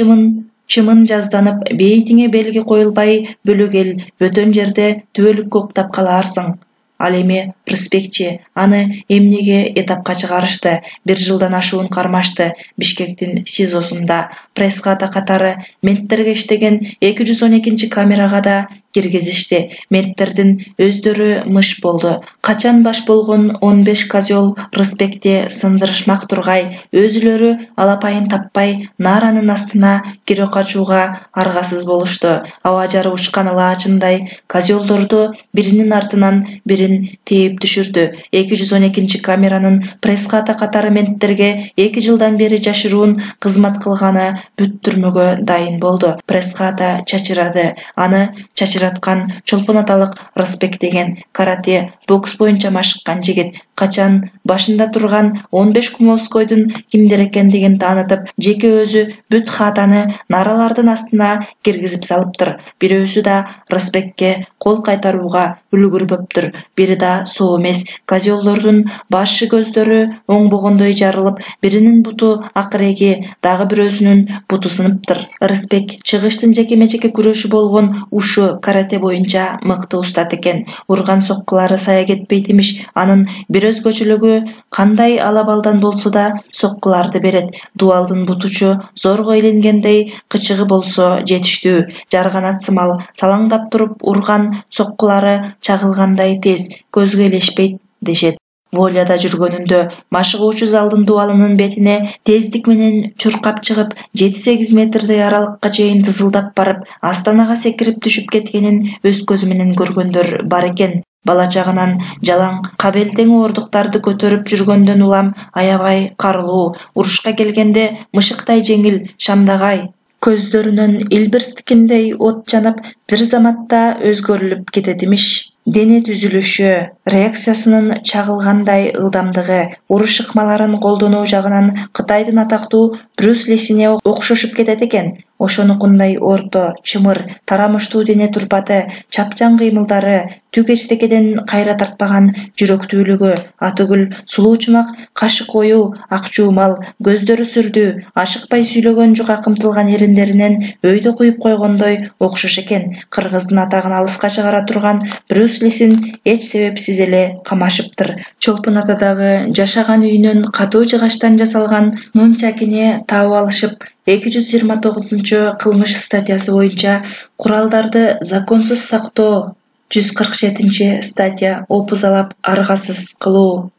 чымын жазданып, бейитиңе белги коюлбай бөлөгел бөтөн жерде түбөлүккө уктап калаарсың. Ал эми Рысбекчи, аны эмнеге этапка чыгарышты? 1 жылдан ашуун кармашты. Бишкектин СИЗОсунда пресска да катары менттерге иштеген 212 камерага да киргизишти. Менттердин өздөрү мыш болду. Качан баш болгон 15 козел Рысбекти сындырышмак тургай, өзүлөрү алапайын таппай нааранын астына кире качууга аргасыз болушту. Аба жары учкан ылаачындай козелдорду биринин артынан бирин тээп түшүрдү. 212 камеранын пресс-хата катары менттерге 2 жылдан бери жашыруун кызмат кылганы бүт түрмөгө дайын болду. Пресс-хата чачырады. Аны чачыраткан Чолпон аталык Рысбек деген карате, бокс боюнча машыккан жигит. Качан башында турган 15 кумовскойдун кимдер экендигин таанытып, жеке өзү бүт хатаны наралардын астына киргизип салыптыр. Бирөөсү да Рысбекке кол кайтарууга үлгүрбөптүр. Бири да соо эмес. Козелдордун башы көздөрү оңбогондой жарылып, биринин буту акыреги, дагы бирөөсүнүн буту сыныптыр. Рысбек чыгыштын жеке-мечеке күрөшү болгон ушу карате боюнча мыкты устат экен. Урган соккулары сая кетпейт имиш. Анын бир өзгөчөлүгү кандай алабалдан болсо да соккуларды берет. Дуалдын бутучу зорго илингендей, кычыгы болсо жетиштүү. Жарганат сымал салаңдап туруп урган соккулары чагылгандай тез, көзгө илешпейт дешет. Воляда жүргөнүндө машыгуучу залдын дуалынын бетине тездик менен чуркап чыгып, 7-8 метрдей аралыкка чейин тызылдап барып, астанага секирип түшүп кеткенин өз көзү менен көргөндөр бар экен. Бала чагынан жалаң кабелтең оордуктарды көтөрүп жүргөндөн улам аябай карылуу, урушка келгенде мышыктай жеңил, шамдагай. Көздөрүнөн илбирстикиндей от жанып, бир заматта өзгөрүлүп кетет имиш. Дене түзүлүшү, реакциясынын чагылгандай ылдамдыгы, уруш ыкмаларын колдонуу жагынан Кытайдын атактуу Брюс Лисине окшошуп кетет экен. Ошонукундай орто, чымыр, тарамыштуу дене турпаты, чапчаң кыймылдары, түк эчтекеден кайра тартпаган жүрөктүүлүгү, атүгүл сулуучумак кашы коюу, ак жуумал, көздөрү сүрдүү, ашыкпай сүйлөгөн жука кымтылган эриндеринен өйдө куюп койгондой окшош экен. Кыргыздын атагын алыска чыгара турган Брюс Лисин эч себепсиз эле камашыптыр. Чолпон атадагы жашаган үйүнөн катуу жыгачтан жасалган нунчакине таап алышып, 229 кылмыш статьясы боюнча куралдарды законсуз сактоо, 147 статья опузалап аргасыз кылуу,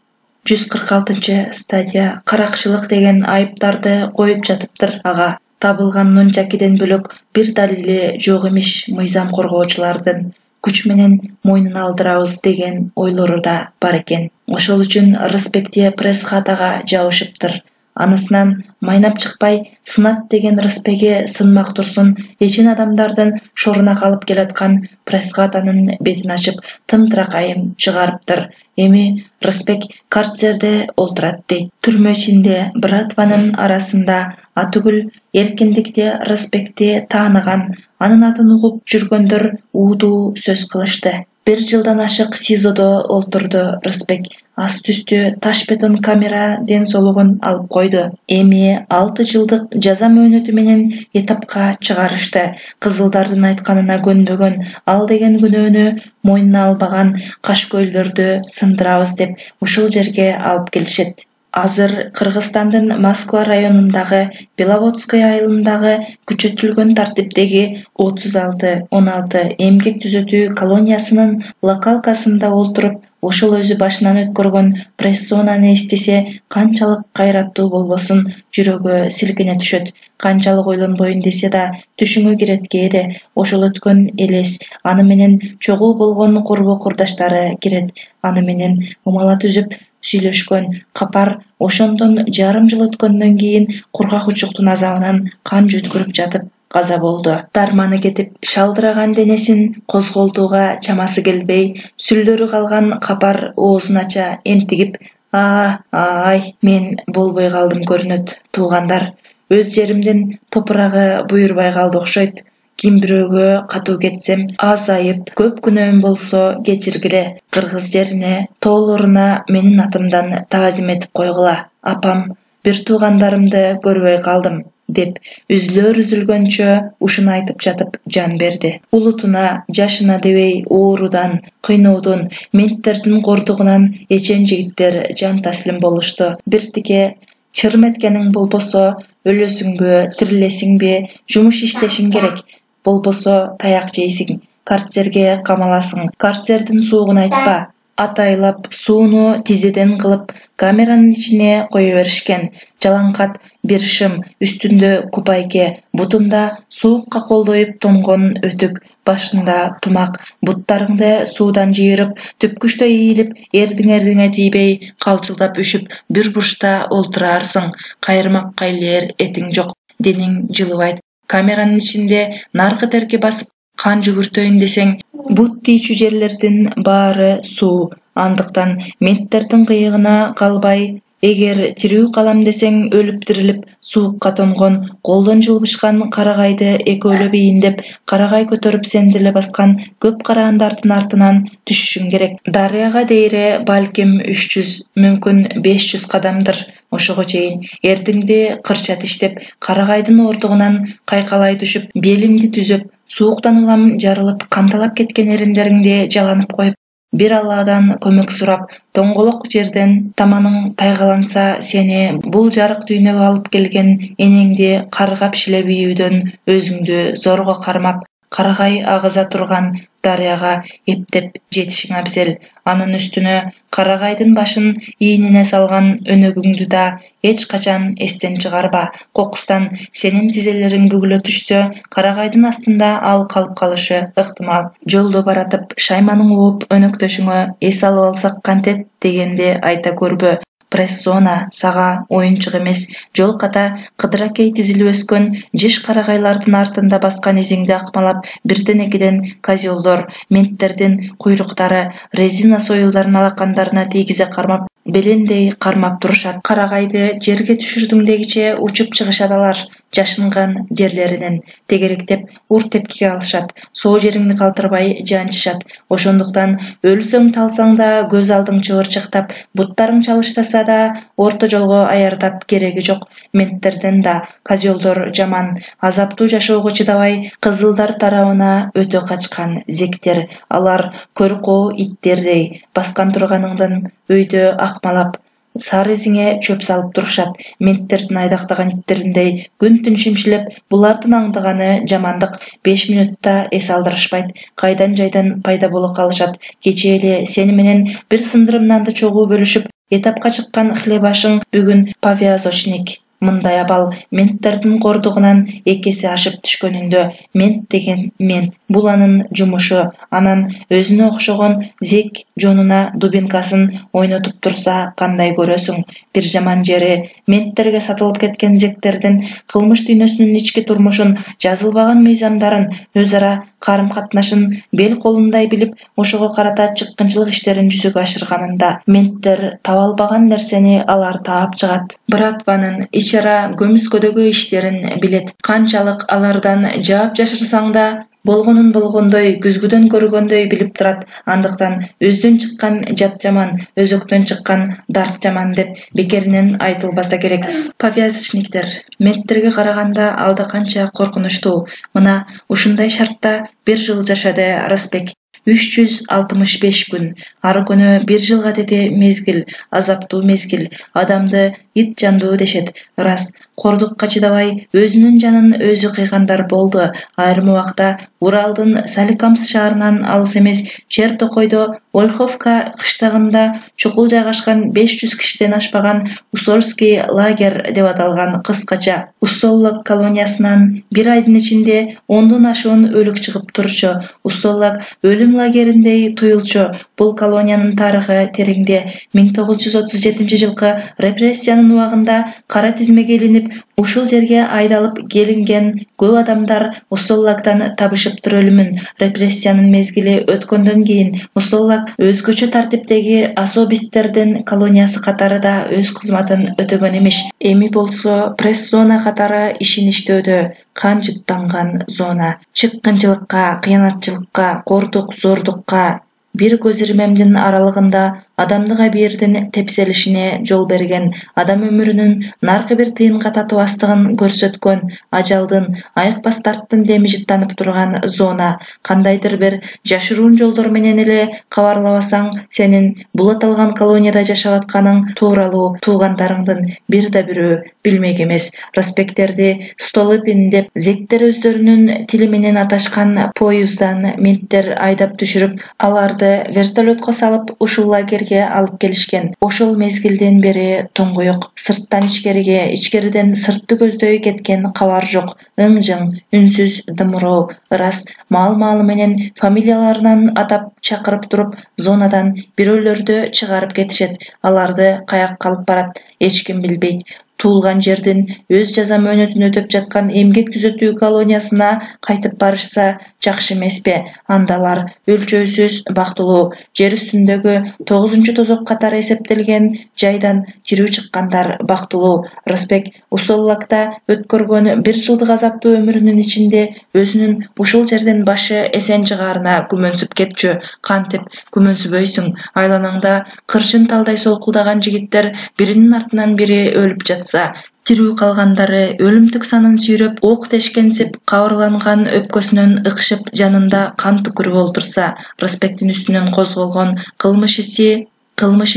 146 статья каракчылык деген айыптарды коюп жатыптыр. Ага табылган нунчакиден бөлөк бир далили жок имиш. Мыйзам коргоочулардын күч менен мойнуна алдырабыз деген ойлору да бар экен. Ошол үчүн Рысбекти пресс-хатага жабышыптыр. Анысынан майнап чыкпай, сынат деген Рысбеги сынмак турсун, эчин адамдардын шоруна калып келаткан пресс-хатанын бетин ачып, тымтыракайын чыгарыптыр. Эми Рысбек карцерде олтурат дейт. Түрмө ичинде братванын арасында атүгүл эркиндикти Рысбекти тааныган, анын атын угуп жүргөндөр уудуу сөз кылышты. 1 жылдан ашык СИЗОдо олтурду Рысбек. Аст-үстү таш бетон камера ден соолугун алып койду. Эми 6 жылдык жаза мөөнөтү менен этапка чыгарышты. Кызылдардын айтканына көнбөгөн, ал деген күнөөнү мойнуна албаган кашкөйлөрдү сындырабыз деп ушул жерге алып келишет. Азыр Кыргызстандын Москва районундагы Беловодское айылындагы күчөтүлгөн тартиптеги 36-16 эмгек түзөтүү колониясынын локалкасында олтуруп, ошол өзү башынан өткөргөн прессонаны эстесе, канчалык кайраттуу болбосун, жүрөгү силкине түшөт. Канчалык ойлонбойн десе да, түшүңө кирет кээде. Ошол өткөн элес, аны менен чогуу болгон курбу-курдаштары кирет. Аны менен умала түзүп сүйлөшкөн капар ошондон жарым жыл өткөндөн кийин кургак учуктун азабынан кан жөткүрүп жатып каза болду. Дарманы кетип, шалдыраган денесин козголтууга чамасы келбей, сүлдөрү калган капар оозун ача энтигип, ай, мен болбой калдым көрүнөт. Туугандар, өз жеримдин топурагы буйрубай калды окшойт. Ким бирөөгө катуу кетсем, аз айып, көп күнөөм болсо кечиргиле. Кыргыз жерине, тоолоруна менин атымдан таазим этип койгула. Апам, бир туугандарымды көрбөй калдым, деп үзүлгөнчө ушуну айтып жатып жан берди. Улутуна, жашына дебей оорудан, кыйноодон, менттердин кордугунан эчен жигиттер жан таслим болушту. Биртике чыр меткениң болбосо, өлөсүңбү, тирилесиңби, жумуш иштешиң керек. Болбосо таяк жейсиң. карцерге камаласың. Карцердин суугун айтпа. Атайлап сууну тизеден кылып камеранын ичине кое беришкен. Жалаңкат бир шым, үстүндө купайке, бутунда суукка колдоюп тонгон өтүк, башында тумак. Буттарыңды суудан жыйырып, түпкүчтө ийилип, эрдиңе тийбей, калчылдап үшүп, бир бурчта олтураарсың. Кайырмакка илер этиң жок, дениң жылыбайт. Камеранын ичинде наркы терки басып, кан жүгүртөйүн десең, бут тийчү жерлердин баары суу. Андыктан менттердин кыйыгына калбай, эгер тирүү калам десең, өлүп тирилип, суукка тонгон, колдон жылбышкан карагайды экөөлөп ийиндеп, карагай көтөрүп сен деле баскан көп караандардын артынан түшүшүң керек. Дарыяга дейре балким 300, мүмкүн 500 кадамдыр. Ошого чейин эрдиңди кырча тиштеп, карагайдын ордугунан кайкалай түшүп, белимди түзөп, сууктан улам жарылып, канталап кеткен эриндериңди жаланып коюп, бир Алладан көмөк сурап, тоңголок жерден таманың тайгаланса, сени бул жарык дүйнөгө алып келген энеңди каргап шилеп ийүүдөн өзүңдү зорго кармап, карагай агыза турган дарыяга эптеп жетишиң абзел. Анын үстүнө карагайдын башын ийнине салган өнөгүңдү да эч качан эстен чыгарба. Кокустан сенин тизелериң бүгүлө түшсө, карагайдын астында ал калып калышы ыктымал. Жолдо баратып шайманың ууп өнөктөшүңө эс алып алсак кантет дегенди айта көрбө. Пресс-зона сага оюнчук эмес. Жол ката кыдыракей тизилип өскөн жеш карагайлардын артында баскан изиңди акмалап, бирден экиден козелдор, менттердин куйруктары резина союлдарын алакандарына тийгизе кармап, белендей кармап турушат. Карагайды жерге түшүрдүң дегиче учуп чыгышат алар. Жашынган жерлеринен тегеректеп ур тепкиге алышат. Соо жериңди калтырбай жанчышат. Ошондуктан өлсөң талсаң да көз алдың чыбырчыктап, буттарың чалыштаса да орто жолго аяртат кереги жок. Менттерден да козелдор жаман, азаптуу жашоого чыдабай, кызылдар тарабына өтө качкан зектер. Алар көркоо иттердей, баскан турганыңдан өйдө акмалап, сары изиңе чөп салып турушат. Менттердин айдактаган иттериндей күн-түн шимшилеп, булардын аңдыганы жамандык 5 мүнөттө эс алдырышпайт. Кайдан жайдан пайда боло калышат. Кечээ эле сени менен бир сындырым нанды чогуу бөлүшүп, этапка чыккан хлебашың бүгүн повязочник. Мындай абал менттердин кордугунан 2 эсе ашып түшкөнүндө. Мент деген мент. Бул анын жумушу. Анан өзүнө окшогон зек жонуна дубинкасын ойнотуп турса кандай көрөсүң. Бир жаман жери менттерге сатылып кеткен зектердин кылмыш дүйнөсүнүн ички турмушун, жазылбаган мыйзамдарын, өз ара карым-катнашын бел колундай билип, ошого карата чыккынчылык иштерин жүзөгө ашырганында. Менттер таба албаган нерсени алар таап чыгат. Братванын ичара көмүскөдөгү иштерин билет. Канчалык алардан жаап жашырсаң да, болгонун болгондой, күзгүдөн көргөндөй билип турат. Андыктан өздөн чыккан жат жаман, өзөктөн чыккан дарт жаман деп бекеринен айтылбаса керек. Повязочниктер менттерге караганда алда канча коркунучтуу. Мына ушундай шартта 1 жыл жашады Рысбек. 365 күн. Ар күнү 1 жылга тети мезгил, азаптуу мезгил. Адамды ит жандуу дешет. Рас, кордукка чыдабай өзүнүн жанын өзү кыйгандар болду. Айрым убакта Уралдын Соликамск шаарынан алыс эмес Чертокойдо Ольховка кыштагында чукул жайгашкан 500 кишиден ашпаган Уссольский лагерь деп аталган кыскача Уссоллок колониясынан 1 айдын ичинде 10дон ашуун өлүк чыгып турчу. Уссоллок өлүм лагериндей туюлчу. Бул колониянын тарыхы тереңде. 1937 жылкы репрессиянын убагында кара тизмеге илинип, ушул жерге айдалып келинген көп адамдар Уссоллоктан табышыптыр өлүмүн. Репрессиянын мезгили өткөндөн кийин Уссоллок өзгөчө тартиптеги особисттердин колониясы катары өз кызматын өтөгөн эмиш. Эми болсо пресс-зона катары ишиништөөдө. Кан жыттанган зона. Чыккынчылыкка, кыянатчылыкка, кордук, зордукка, бир көз ирмемдин аралыгында адамдык абийирдин тепселишине жол берген, адам өмүрүнүн наркы бир тыйынга татыбастыгын көрсөткөн, ажалдын, айыкпас дарттын деми жыттанып турган зона. Кандайдыр бир жашыруун жолдор менен эле кабарлабасаң, сенин бул аталган колонияда жашап атканың тууралуу туугандарыңдын бир да бирөө билмек эмес. Проспекттерди Столыпин деп зектер өздөрүнүн тили менен аташкан поезддан менттер айдап түшүрүп, аларды вертолетко салып ушул лагерге алып келишкен. Ошол мезгилден бери туңгуюк, сырттан ичкериге, ичкериден сыртты көздөй кеткен кабар жок. Ың-жың, үнсүз дымыроо, ырас маал-маалы менен фамилияларынан атап чакырып туруп, зонадан бирөөлөрдү чыгарып кетишет. Аларды каякка алып барат, эч ким билбейт. Туулган жердин өз жаза мөөнөтүн өтөп жаткан эмгек түзөтүү колониясына кайтып барышса жакшы эмеспи? Анда алар өлчөөсүз бактылуу, жер үстүндөгү 9-тозок катары эсептелген жайдан тирүү чыккандар бактылуу. Рысбек Усоллакта өткөргөн 1 жылдык азаптуу өмүрүнүн ичинде өзүнүн ушул жерден башы эсен чыгаарына күмөнсүп кетчү. Кантип күмөнсүбөйсүң? Айланаңда кыршын талдай солкулдаган жигиттер биринин артынан бири өлүп жатса, тирүү калгандары өлүмтүк санын сүйрөп, ок тешкенсип, кабырланган өпкөсүнөн ыкшып, жанында кан түкүрүп олтурса, Рысбектин үстүнөн козголгон кылмыш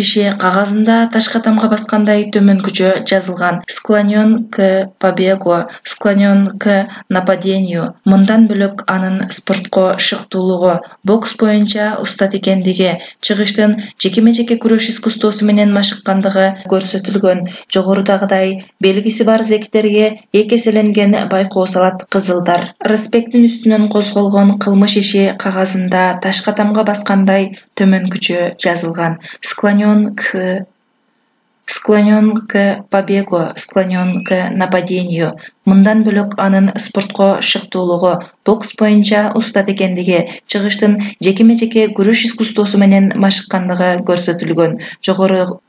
иши кагазында ташка тамга баскандай төмөнкүчө жазылган: склонен к побегу, склонен к нападению. Мындан бөлөк анын спортко шыктуулугу, бокс боюнча устат экендиги, чыгыштын жекеме-жеке күрөш искусствосу менен машыккандыгы көрсөтүлгөн. Жогорудагыдай белгиси бар зектерге эки эселенген байкоо салат кызылдар. Рысбектин үстүнөн козголгон кылмыш иши кагазында ташка тамга баскандай төмөнкүчө жазылган: склонен к побегу, склонен к нападению. Мындан бөлөк анын спортко шыктуулугу, бокс боюнча устат экендиги, чыгыштын жекеме-жеке күрөш искусствосу менен машыккандыгы көрсөтүлгөн.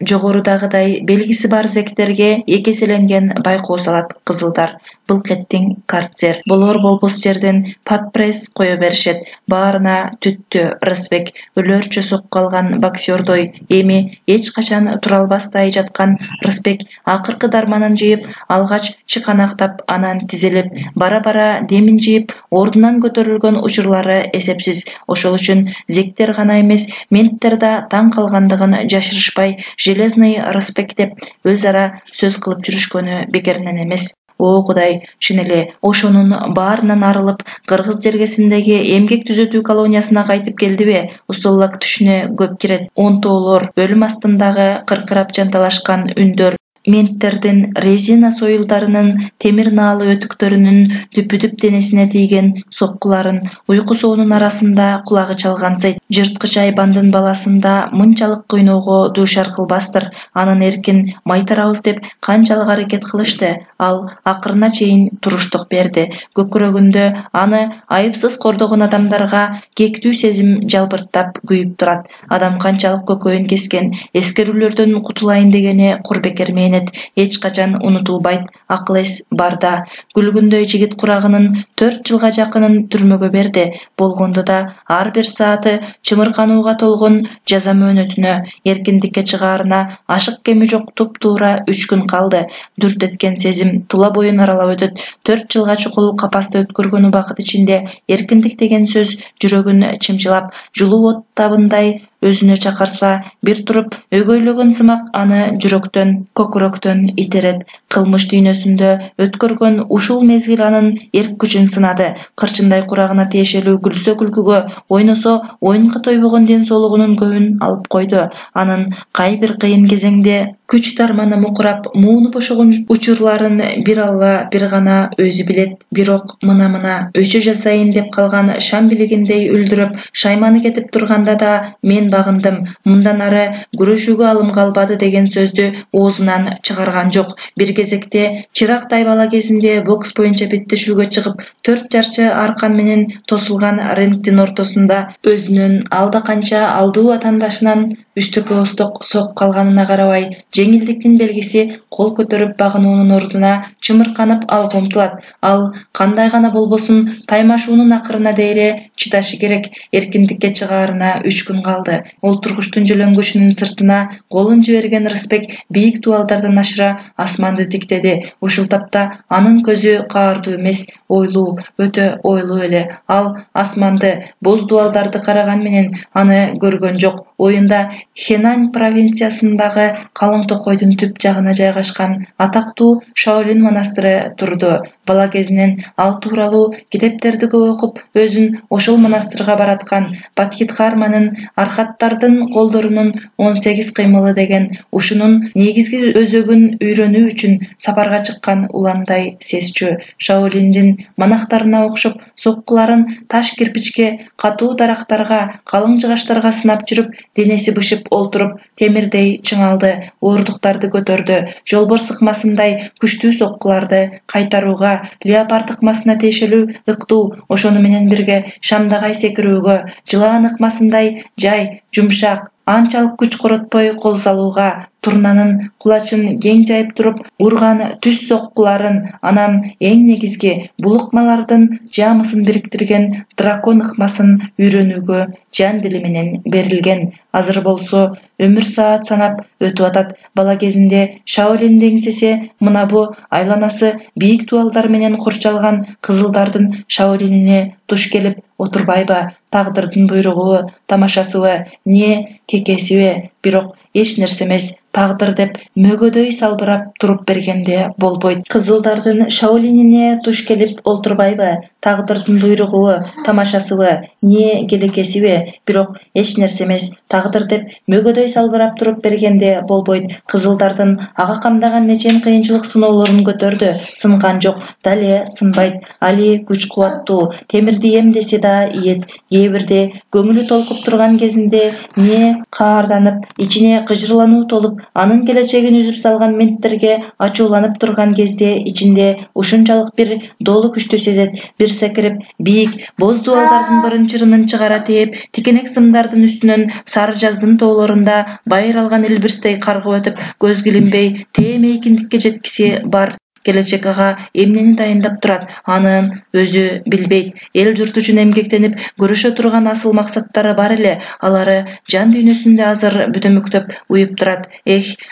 Жогорудагыдай белгиси бар зектерге эки эселенген байкоо салат кызылдар. Былкеттиң карцер. Болор-болбос жерден подпресс кое беришет. Баарына түттү. Рысбек өлөрчө сокку алган боксердой эми эч качан тура албастай жаткан Рысбек акыркы дарманын жыйып, алгач чыканактап, анан тизилип, бара-бара демин жыйып, ордунан көтөрүлгөн учурлары эсепсиз. Ошол үчүн зектер гана эмес, менттер да таң калгандыгын жашырышпай, железный Рысбек деп өз ара сөз кылып жүрүшкөнү бекеринен эмес. О Кудай, чын эле ошонун баарынан арылып, Кыргыз жергесиндеги эмгек түзөтүү колониясына кайтып келдиби? Усоллак түшүнө көп кирет. Онтоолор, өлүм астындагы кыркырап жанталашкан үндөр, менттердин резина союлдарынын, темир наалы өтүктөрүнүн дүпү-дүп денесине тийген соккуларын уйку соонун арасында кулагы чалгансыйт. Жырткыч айбандын баласында мынчалык кыйноого дуушар кылбастыр. Анын эркин майтарабыз деп канчалык аракет кылышты, ал акырына чейин туруштук берди. Көкүрөгүндө аны айыпсыз кордогон адамдарга кектүү сезим жалбырттап күйүп турат. Адам канчалык көкөйүн кескен, эскерүүлөрдөн кутулайын дегени кур бекер менет, эч качан унутулбайт. Акыл эс барда. Күлгүндөй жигит курагынын 4 жылга жакынын түрмөгө берди. Болгондо да ар бир сааты чымырканууга толгон жаза мөөнөтүнө, эркиндикке чыгаарына ашык кеми жок туп-туура 3 күн калды. Дүрт эткен сезим тула боюн аралап өтөт. 4 жылга чукул капаста өткөргөн убакыт ичинде эркиндик деген сөз жүрөгүн чымчылап, жылуу от табындай өзүнө чакырса, бир туруп өгөйлөгөн сымак аны жүрөктөн, көкүрөктөн итерет. Кылмыш дүйнөсүндө өткөргөн ушул мезгил анын эрк күчүн сынады. Кырчындай курагына тиешелүү күлсө күлкүгө, ойносо оюнга тойбогон ден соолугунун көбүн алып койду. Анын кай бир кыйын кезеңде күч дарманы мукурап, муунуп ошогон учурларын бир Алла бир гана өзү билет. Бирок мына өчө жазайын деп калган шам билигиндей үлдүрөп, шайманы кетип турганда да мен багындым. Мындан ары күрөшүүгө алым калбады деген сөздү оозунан чыгарган жок. Бир кезекте чырактай бала кезинде бокс боюнча беттешүүгө чыгып, 4 жарчы аркан менен тосулган рингдин ортосунда өзүнүн алда канча алдуу атаандашынан Үстүккө устук сок калганына карабай, жеңилдиктин белгиси кол көтөрүп багынуунун ордуна чымырканып алга умтулат. Ал кандай гана болбосун таймашуунун акырына дейре чыдашы керек. Эркиндикке чыгаарына 3 күн калды. Олтургучтун жөлөңгүчүнүн сыртына колун жиберген Рысбек бийик дубалдардан ашыра асманды тиктеди. Ушул тапта анын көзү каардуу эмес, ойлуу, өтө ойлуу эле. Ал асманды, боз дубалдарды караган менен аны көргөн жок. Оюнда Хэнань провинциясындагы Калың Токойдун түп жагына жайгашкан атактуу Шаолин монастыры турду. Бала кезинен ал тууралуу китептерди көп окуп, өзүн ошол монастырга бараткан. Бадхидхарманын архаттардын колдорунун 18 кыймылы деген ушунун негизги өзөгүн үйрөнүү үчүн сапарга чыккан уландай сезчү. Шаолиндин монахтарына окшоп соккуларын таш кирпичке, катуу дарактарга, калың жыгачтарга сынап жүрүп, денеси бышып олтуруп, темирдей чыңалды, оорундуктарды көтөрдү. Жолборс ыкмасындай күчтүү соккуларды кайтарууга, леопард ыкмасына тиешелүү ыктуу, ошону менен бирге шамдагай секирүүгө, жылаан ыкмасындай жай, жумшак, анчалык күч коротпой кол салууга, турнанын кулачын кең жайып туруп урган түз соккуларын, анан эң негизги бул ыкмалардын жаамысын бириктирген дракон ыкмасын үйрөнүүгө жан дили менен берилген. Азыр болсо өмүр саат санап өтүп атат. Бала кезинде Шаолиндин эңсеси мына бу айланасы бийик дубалдар менен курчалган кызылдардын Шаолинине туш келип отурбайбы? Тагдырдын буйругубу, тамашасыбы, не кекесиби? Бирок эч нерсе эмес. Тагдыр деп мөгөдөй салбырап туруп бергенде болбойт. Кызылдардын Шаолинине туш келип олтурбайбы? Тагдырдын буйругубу, тамашасыбы, не келекесиби? Бирок эч нерсе эмес. Тагдыр деп мөгөдөй салбырап туруп бергенде болбойт. Кызылдардын ага камдаган нечен кыйынчылык сыноолорун көтөрдү. Сынган жок, дале сынбайт. Али күч кубаттуу, темирди эмдесе да ийет. Кээ бирде көңүлү толкуп турган кезинде не каарданып, ичине кыжырлануу толуп, анын келечегин үзүп салган менттерге ачууланып турган кезде ичинде ушунчалык бир долу күчтү сезет. Бир секирип, бийик боз дубалдардын бырын-чырынын чыгара тээп, тикенек сымдардын үстүнөн сары жаздын тоолорунда байыр алган илбирстей каргып өтүп, көзгө илинбей тээме эркиндикке жеткиси бар. Келечек ага эмнени дайындап турат, анын өзү билбейт. Эл журт үчүн эмгектенип көрүшө турган асыл максаттары бар эле. Алары жан дүйнөсүндө азыр бүтөмүктөп уюп турат.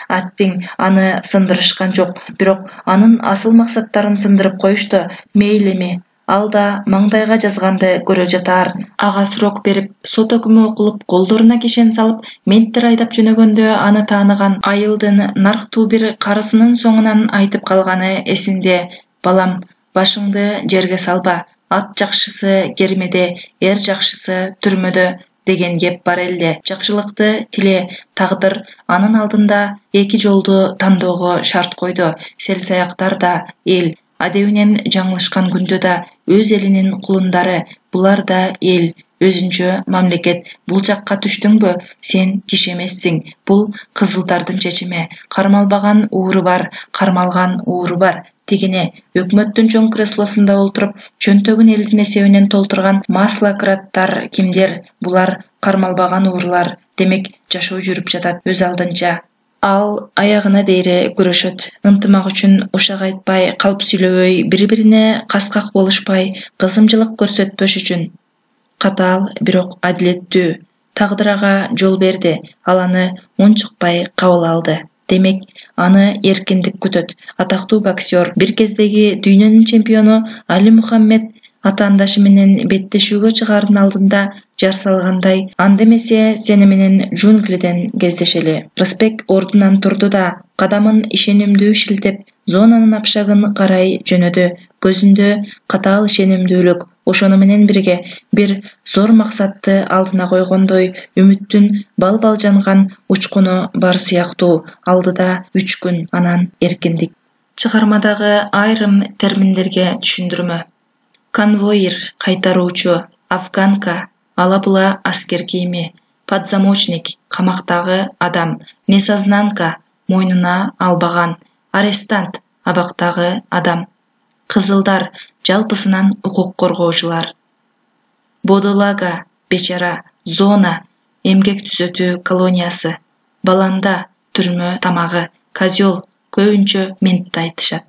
Аттиң аны сындырышкан жок, бирок анын асыл максаттарын сындырып коюшту. Мейли эми. Ал да маңдайга жазганды көрө жатаар. Ага сурок берип, сот өкүмү окулуп, колдоруна кишен салып, менттер айдап жөнөгөндө аны тааныган айылдын нарктуу бир карысынын соңунан айтып калганы эсинде. Балам, башыңды жерге салба. Ат жакшысы кермеде, эр жакшысы түрмөдө деген кеп бар элде. Жакшылыкты тиле. Тагдыр анын алдында эки жолду тандоого шарт койду. Сел-саяктар да эл. Адебинен жаңылышкан күндө да өз элинин кулундары, булар да эл, өзүнчө мамлекет. Бул жакка түштүңбү? Сен киши эмессиң. Бул кызылдардын чечими. Кармалбаган ууру бар, кармалган ууру бар. Тигине өкмөттүн чоң креслосунда олтуруп, чөнтөгүн элдин эсебинен толтурган маслократтар кимдер? Булар кармалбаган уурулар. Демек, жашоо жүрүп жатат өз алдынча. Ал аягына дейре күрөшөт. Ынтымак үчүн ушак айтпай, калп сүйлөбөй, бири-бирине каскак болушпай, кызымчылык көрсөтпөш үчүн. Катаал, бирок адилеттүү. Тагдыр ага жол берди. Ал аны унчукпай кабыл алды. Демек, аны эркиндик күтөт. Атактуу боксер, бир кездеги дүйнөнүн чемпиону Али Мухаммед атаандашы менен беттешүүгө чыгаардын алдында жар салгандай, анда эмесе сени менен джунглиден кездешели. Рысбек ордунан турду да, кадамын ишенимдүү шилтеп, зонанын апшагын карай жөнөдү. Көзүндө катаал ишенимдүүлүк. Ошону менен бирге бир зор максатты алдына койгондой, үмүттүн бал-бал жанган учкуну бар сыяктуу. Алдыда 3 күн, анан эркиндик. Чыгармадагы айрым терминдерге түшүндүрмө. Конвоир, кайтаруучу, афганка, ала-була аскер кийими, подзамочник, камактагы адам, несознанка, мойнуна албаган, арестант, абактагы адам, кызылдар, жалпысынан укук коргоочулар, бодолага, бечара, зона, эмгек түзөтүү колониясы, баланда түрмө тамагы, козёл көбүнчө ментти айтышат.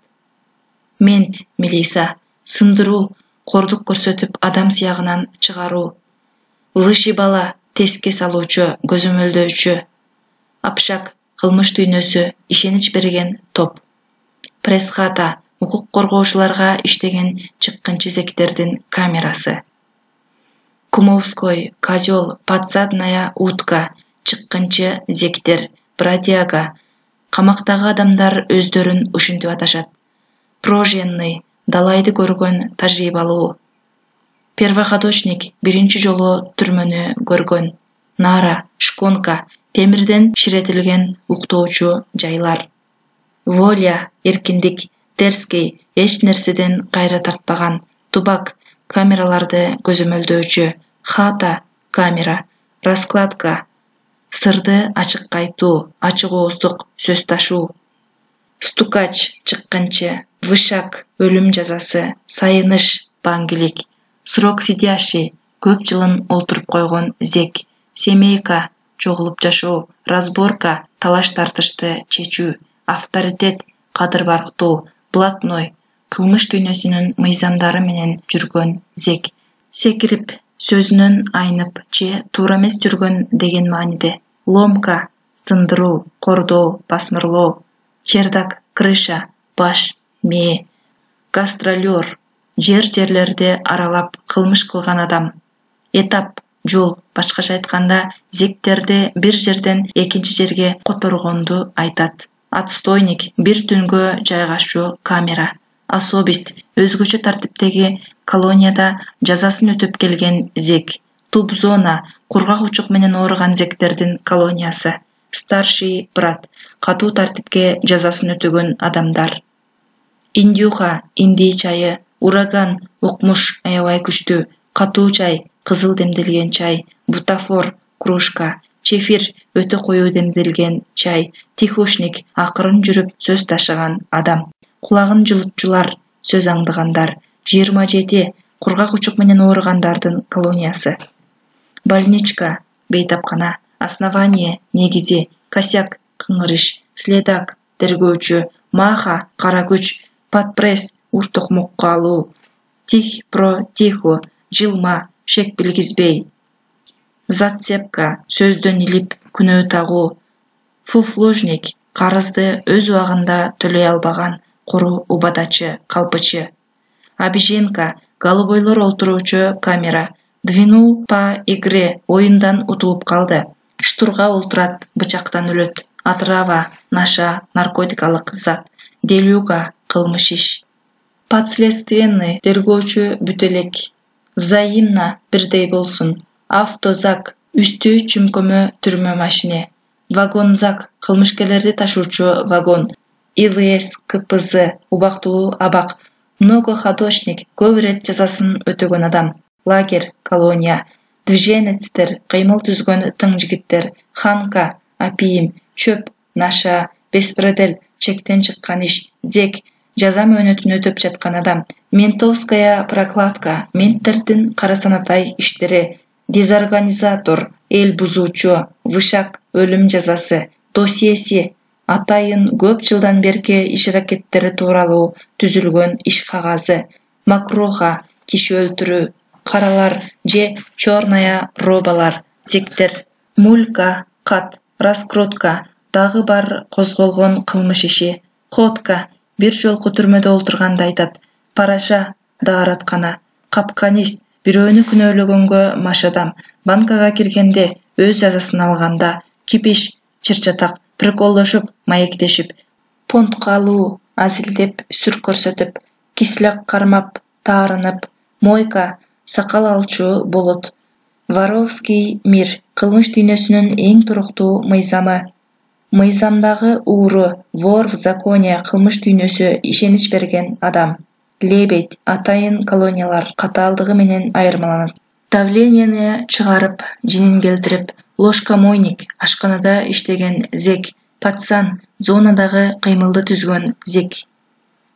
Мент, милиса, сындыруу, кордук көрсөтүп адам сыягынан чыгаруу. Вышибала, теске салуучу, көзөмөлдөөчү. Апшак, кылмыш дүйнөсү, ишенич берген топ. Пресс-хата, укук коргоочуларга иштеген чыккынчы зектердин камерасы. Кумовской, козёл, подсадная утка, чыккынчы зектер, бродяга. Камактагы адамдар өздөрүн ушинтип аташат. Проженный, далайды көргөн, тажрыйбалуу. Первоходочник, биринчи жолу түрмөнү көргөн. Нара, шконка, темирден ширетилген уктоочу жайлар. Воля, эркиндик. Терский, эч нерседен кайра тартпаган. Тубак, камераларды көзөмөлдөөчү. Хата, камера. Раскладка, сырды ачыкка айтуу, ачык ооздук сөз ташуу. Стукач, чыккынчы. Вышак, өлүм жазасы. Сайыныш, баңгилик. Срок сидящий, көп жылын олтуруп койгон зек. Семейка, чогулуп жашоо. Разборка, талаш тартышты чечүү. Авторитет, кадыр барктоо. Блатной, кылмыш дүйнөсүнүн мыйзамдары менен жүргөн зек. Секирип, сөзүнөн айнып же туура эмес жүргөн деген мааниде. Ломка, сындыруу, кордоо, басмырлоо. Чердак, крыша, баш, мээ. Гастролер, жерлерди аралап кылмыш кылган адам. Этап, жол, башкача айтканда, зектерди бир жерден экинчи жерге которгонду айтат. Отстойник, бир түнгө жайгашуу камера. Особист, өзгөчө тартиптеги колонияда жазасын өтөп келген зек. Тубзона, кургак учук менен ооруган зектердин колониясы. Старший брат, катуу тартипке жазасын өтөгөн адамдар. Индюха, индей чайы. Ураган, укмуш, аябай күчтүү. Катуу чай, кызыл демделген чай. Бутафор, кружка. Чефир, өтө коюу демделген чай. Тихушник, акырын жүрүп сөз ташыган адам. Кулагын жылытчулар, сөз аңдыгандар. 27, кургак учук менен ооругандардын колониясы. Больничка, бейтапкана. Основание, негизи. Косяк, кыңырыш. Следак, тергөөчү. Маха, кара күч. Подпресс, уртукмукка алуу. Тих про тиху, жылма, шек билгизбей. Зацепка, сөздөн илип, күнөө тагуу. Фуфлужник, карызды өз убагында төлөй албаган, куру убадачы, калпычы. Обиженка, голубойлор олтуруучу камера. Двинул по игре, оюндан утулуп калды. Штурга олтурат, бычактан өлөт. Отрава, наша, наркотикалык зат. Делюга, кылмыш иш. Подследственный, тергөөчү, бүт элек. Взаимно, бирдей болсун. Автозак, үстү чүмкөмө түрмө машине. Вагонзак, кылмышкерлерди ташуучу вагон. ИВС, КПЗ, убактылуу абак. Многоходочник, көп ирет жазасын өтөгөн адам. Лагерь, колония. Движенецтер, кыймыл түзгөн тың жигиттер. Ханка, апийим. Чөп, наша. Беспредел, чектен чыккан иш. Зек, жаза мөөнөтүн өтөп жаткан адам. Ментовская прокладка, менттердин карасанатай иштери. Дезорганизатор, эл бузуучу. Вышак, өлүм жазасы. Досьеси, атайын көп жылдан берки иш аракеттери тууралуу түзүлгөн иш кагазы. Макроха, киши өлтүрүү. Каралар же черная робалар, зектер. Мулька, кат, раскрутка, дагы бар козголгон кылмыш иши. Ходка, бир жолку түрмөдө олтурганды айтат. Параша, даараткана. Капканист, бирөөнү күнөөлөгөнгө маш адам. Банкага киргенде, өз жазасын алганда. Кипиш, чырчатак, приколдошуп, маектешип. Понтко алуу, азилдеп, сүр көрсөтүп. Кисляк кармап, таарынып. Мойка, сакал алчу болот. Воровский мир, кылмыш дүйнөсүнүн эң туруктуу мыйзамы. Мыйзамдагы ууру, вор в законе, кылмыш дүйнөсү, ишенич берген адам. Лебедь, атайын колониялар катаалдыгы менен айырмаланат. Давленияны чыгарып, жинин келтирип. Ложкомойник, ашканада иштеген зек. Пацан, зонадагы кыймылды түзгөн зек.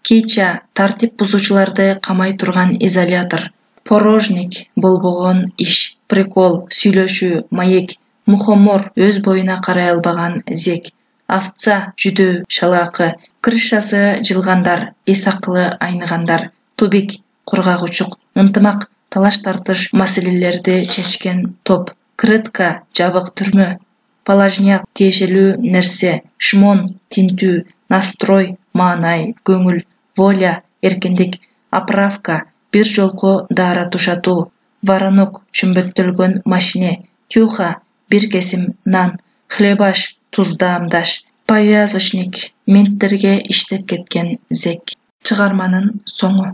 Кича, тартип бузуучуларды камай турган изолятор. Порожник, болбогон иш. Прикол, сүйлөшүү, маек. мухомор өз боюна карай албаган зек, овца жүдөө шалаакы, крышасы жылгандар, эс акылы айныгандар, тубик кургак учук, ынтымак талаш тартыш маселелерди чечкен топ, крытка жабык түрмө, палажняк тиешелүү нерсе, шмон тинтүү, настрой маанай, көңүл, воля эркиндик, оправка бир жолку daara тушатуу, воронок чүмбөттөлгөн машине, тюха бир кесим нан, хлебаш туздаамдаш, повязочник менттерге иштеп кеткен зек. Чыгарманын соңу.